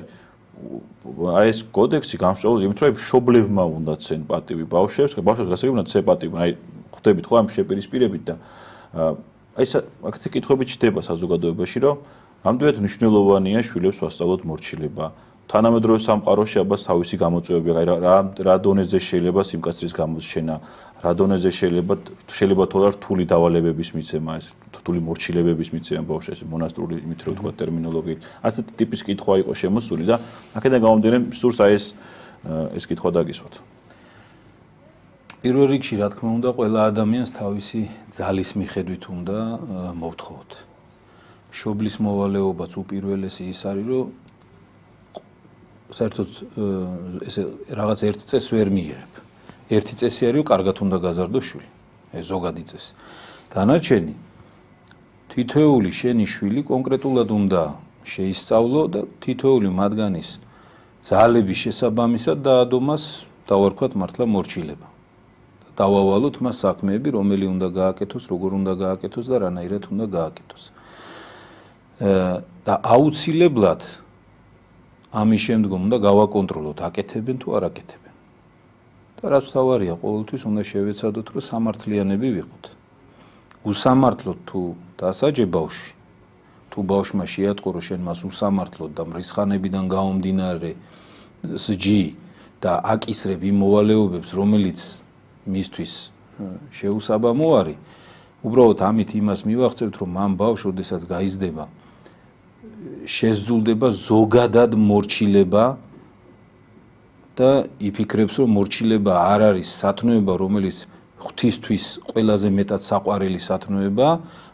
აი ეს კოდექსი გამსჭვალული იმით, რომ მშობლებმა უნდა ცენ პატივი ბავშვებს, ბავშვებს გასაგები უნდა ცე პატივი, აი ხვდებით ხო ამ შეპირისპირებით და აი ეს აქეთ კითხვები ჩდება საზოგადოებაში, რომ რამდენად მნიშვნელოვანია შვილებს ვასწავლოთ მორჩილება. თანამედროვე სამყაროში აბას თავისი გამოწვევები, აი რა დონეზე შეიძლება სიმკაცრის გამოსჩენა, რა დონეზე შეიძლება თოლა რთული დავალებების მიცემა, ეს რთული მორჩილებების მიცემა ბავშვებს, მონასტრული იმით რო თქვა ტერმინოლოგიით. ასეთი ტიპის კითხვა იყო შემოსული და აქედან გამომდინარე სურს აი ეს კითხვა დაგისვათ. პირველ რიგში რა თქმა უნდა ყველა ადამიანს თავისი ძალის მიხედვით უნდა მოვთხოვოთ. მშობლის მოვალეობაც უპირველესი ის არის, რომ საერთოდ ესე რაღაც ერთ წესს ვერ მიიღებ. ერთი წესი არის, რომ კარგად უნდა გაზარდო შვილი. ეს ზოგადი წესი. დანარჩენი თითოეული შენი შვილი კონკრეტულად უნდა შეისწავლო და თითოეული მათგანის ძალების შესაბამისად დაადო მას დავარქვათ მართლა მორჩილება. დავავალოთ მას საქმეები, რომელი უნდა გააკეთოს, როგორ უნდა გააკეთოს და რანაირად უნდა გააკეთოს. და აუცილებლად ამის შემდგომ უნდა გავაკონტროლოთ, აკეთებენ თუ არ აკეთებენ. და რაც თავარია, ყოველთვის უნდა შევეცადოთ, რომ სამართლიანები ვიყოთ. უსამართლოდ თუ დასაჯე ბავშვი, თუ ბავშვმა შეატყო, რომ შენ მას უსამართლოდ და მრისხანებიდან გამომდინარე სჯი და აკისრებ იმ მოვალეობებს, რომელიც მისთვის შეუსაბამო არის, უბრალოდ ამით იმას მივახცევთ, რომ ამ ბავშვს, როდესაც გაიზრდება, შესძულდება ზოგადად მორჩილება და იფიქრებს, რომ მორჩილება არ არის სათნოება, რომელიც ღვთისთვის ყველაზე მეტად საყვარელი სათნოება,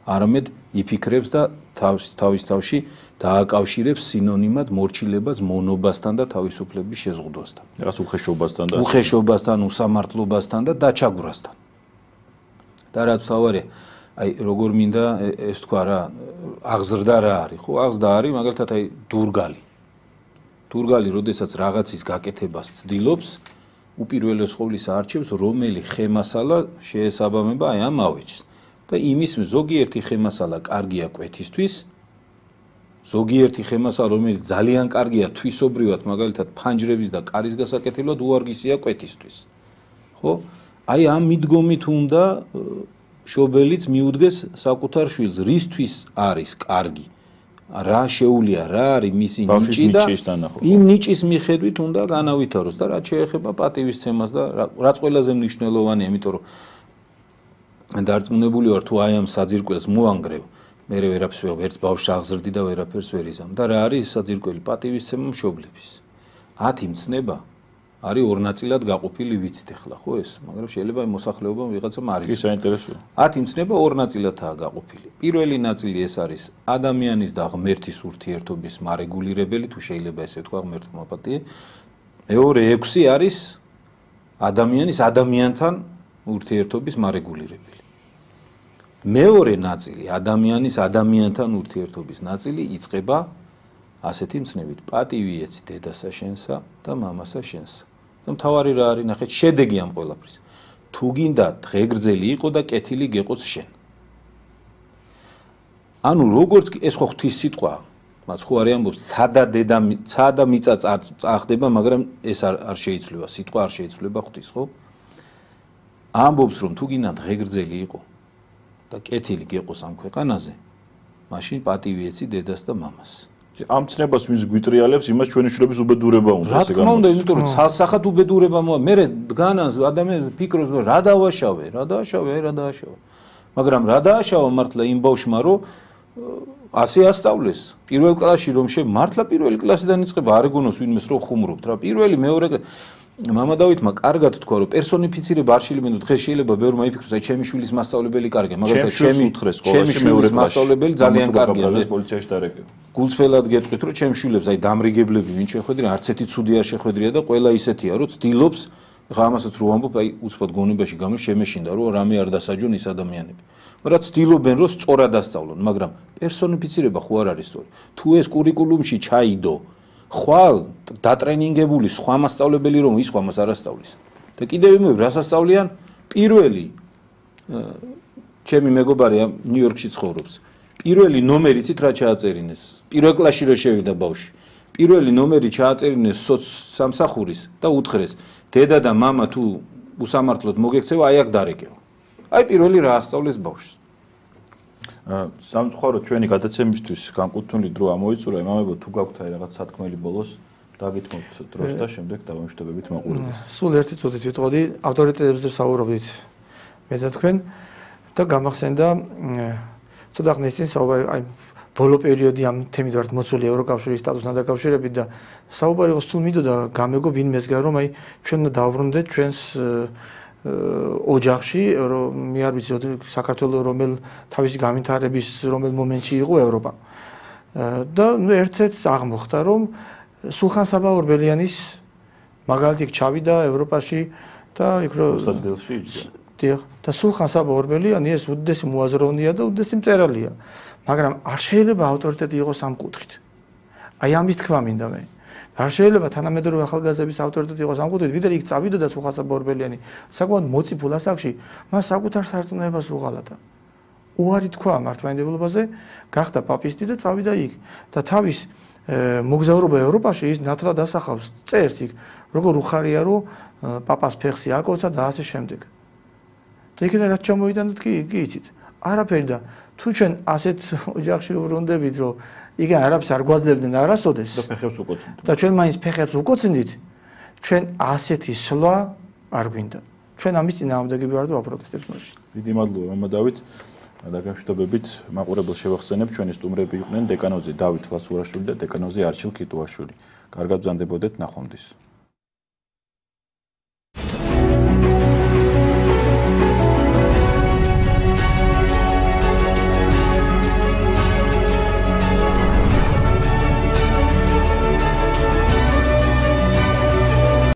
არამედ იფიქრებს და თავის თავში დააკავშირებს სინონიმად მორჩილებას მონობასთან და თავისუფლების შეზღუდვასთან. რაღაც უხეშობასთან და უხეშობასთან, უსამართლობასთან და დაჩაგვრასთან. და რაც თავარია, აი როგორ მინდა ეს თქვა რა, აღზრდა რა არის, ხო? აღზრდა არის მაგალითად აი დურგალი. დურგალი, როდესაც რაღაცის გაკეთებას ცდილობს, უპირველეს ყოვლისა არჩევს, რომელი ხემასალა შეესაბამება აი ამ ავეჯს. და იმის ზოგიერთი ხემასალა კარგია კვეთისთვის, ზოგიერთი ხემასალა, რომელიც ძალიან კარგია თვისობრივად, მაგალითად ფანჯრების და კარის გასაკეთებლად, უარგისია კვეთისთვის. ხო? აი ამ მიდგომით უნდა მშობელიც მიუდგეს საკუთარ შვილს, რისთვის არის კარგი. რა შეუულია, რა არის მისი ნიჭი და იმ ნიჭის მიხედვით უნდა განავითაროს და რაც შეეხება პატივისცემას და რაც ყველაზე მნიშვნელოვანია, იმიტომ რომ დარწმუნებული ვარ თუ აი ამ საძირკველს მოანგრევ, მე ვერაფერს ვერც ბავშვს აღზრდი და ვერაფერს ვერ იზამ და რა არის საძირკველი პატივისცემა მშობლების. 10 მცნება არის ორ ნაწილად გაყოფილი ვიცით ახლა ხო ეს, მაგრამ შეიძლება მოსახლეობა ვიღაცამ არ იცის. კი საინტერესოა. 10 მცნება ორ ნაწილადაა გაყოფილი. პირველი ნაწილი ეს არის ადამიანის და ღმერთის ურთიერთობის მარეგულირებელი, თუ შეიძლება ესე ვთქვა, ღმერთმა პატიე. მეორე 6 არის ადამიანის ადამიანთან ურთიერთობის მარეგულირებელი. მეორე ნაწილი ადამიანის ადამიანთან ურთიერთობის ნაწილი იწყება ასეთი მცნებით: პატივი ეცი დედასა შენსა და მამასა შენსა. და მთავარი რა არის, ნახეთ, შედეგი ამ ყველაფრის. თუ გინდა დღეგრძელი იყო და კეთილი გეყოს შენ. ანუ როგორც ეს ხო ღვთის სიტყვაა, მას ხო არ ამბობს, ცა და მიწა წახდება, მაგრამ ეს არ შეიცვლება, სიტყვა არ შეიცვლება ღვთის, ხო? ამბობს, რომ თუ გინდა დღეგრძელი იყო და კეთილი გეყოს ამ ქვეყანაზე, მაშინ პატივი ეცი დედას და მამას. ამ ცნებას ვინც გვიტრიალებს, იმას ჩვენი შვილების უბედურება უნდა ესე გამოდის. რა თქმა უნდა, იმიტომ რომ ცალსახად უბედურება მოა. მე დგანას ადამიანს ფიქრობს, რომ რა დავაშავე. მაგრამ რა დააშავა მართლა იმ ბავშვმა, რომ ასე ასწავლეს. პირველ კლასში რომ მართლა პირველი კლასიდან იწყება, არ ეგონოს ვინმეს რომ ხუმრობთ რა. პირველი, მეორე მამა დავითმა კარგად თქვა, რომ პერსონიფიცირება არ შეიძლება, დღეს შეიძლება ბევრმა იფიქროს, აი ჩემი შვილის მასწავლებელი კარგია, მაგრამ ჩემი შვილის მასწავლებელი ძალიან კარგია. პოლიციაში დარეკე. გულწრფელად გეტყვით, რომ ჩემ შვილებს აი დამრიგებლები ვინ შეხვედრია, არც ერთი ცუდი არ შეხვედრია და ყველა ისეთია, რომ ცდილობს, ხა ამასაც რო ვამბობ, აი უცბად გონებაში გამო შემეშინდა, რომ რამე არ დასაჯონ ის ადამიანები. მაგრამ ცდილობენ, რომ სწორად ასწავლონ, მაგრამ პერსონიფიცირება ხო არ არის სწორი. თუ ეს კურიკულუმში ჩაიდო, ხვალ დატრენინგებული სხვა მასწავლებელი რომ ის ხომას არ ასწავლის. და კიდევ იმები რას ასწავლიან? პირველი ჩემი მეგობარი ნიუ-იორკში ცხოვრობს. პირველი ნომერი იცით რა ჩააწერინეს? პირველ კლასში რო შევიდა ბავშვი. პირველი ნომერი ჩააწერინეს სამსახურის და უთხრეს: დედა და მამა თუ უსამართლოდ მოგექცევა, აი აქ დარეკეო. აი პირველი რა ასწავლეს ბავშვს. სამწუხაროდ ჩვენი გადაცემისთვის განკუთვნილი დრო ამოიწურა, იმამებო თუ გაქვთ აი რაღაც სათქმელი ბოლოს დაგითმოთ დროს და შემდეგ დავამშვიდობებით მაყურებელს. სულ ერთი წუთით ვიტყოდი, ავტორიტეტებზე ვსაუბრობდით მე და თქვენ და გამახსენდა ცოტა ხნის წინ საუბარი აი ბოლო პერიოდი ამ თემით ვართ მოცული ევროკავშირის სტატუსთან დაკავშირებით და საუბარი იყო სულ მინდოდა გამეგო ვინმესგან რომ აი ჩვენ უნდა დავბრუნდეთ ჩვენს ოჯახში მე არ ვიცი საქართველოს რომელ თავისი განვითარების რომელ მომენტში იყო ევროპა და ნუ ერთ-ერთს აღმოხდა რომ სულხან საბა ორბელიანის მაგალითი ჩავიდა ევროპაში და იქ რო სადელში იჯდა დიახ და სულხან საბა ორბელიანი ეს უდიდესი მოაზროვნეა და უდიდესი მწერალია მაგრამ არ შეიძლება ავტორიტეტი იყოს ამ კუთხით აი ამის თქმა მინდა მე არ შეიძლება თანამედროვე ახალგაზრდების ავტორიტეტი იყოს ამ კუთხით ვიდრე იქ წავიდოდა სულხან საბა ორბელიანი საკმაოდ მოწიფულ ასაკში მას საკუთარ სარწმუნოებას უღალატა უარი თქვა მართლმადიდებლობაზე გახდა პაპისტი და წავიდა იქ და თავის მოგზაურობა ევროპაში ის ნათლად ასახავს წერს იქ როგორ უხარია რომ პაპას ფეხსი აკოცა და ასე შემდეგ და იქიდან რაც ჩამოიტანეთ კი იცით არაფერი და თუ ჩვენ ასეთ ოჯახში ვბრუნდებით რომ იქან არაფერს არ გვაძლევდნენ არასოდეს და ფეხებს უკოცნით და ჩვენ მაინც ფეხებს უკოცნით ჩვენ ასეთი სვლა არ გვინდა ჩვენ ამის წინააღმდეგები ვართ და ვაპროტესტებთ მაშინ დიდი მადლობა მამა დავით დაგამშვიდობებით მაყურებელს შევახსენებ ჩვენი სტუმრები იყვნენ დეკანოზი დავით ლასურაშვილი და დეკანოზი არჩილ ქიტუაშვილი კარგად ბრძანდებოდეთ ნახვამდის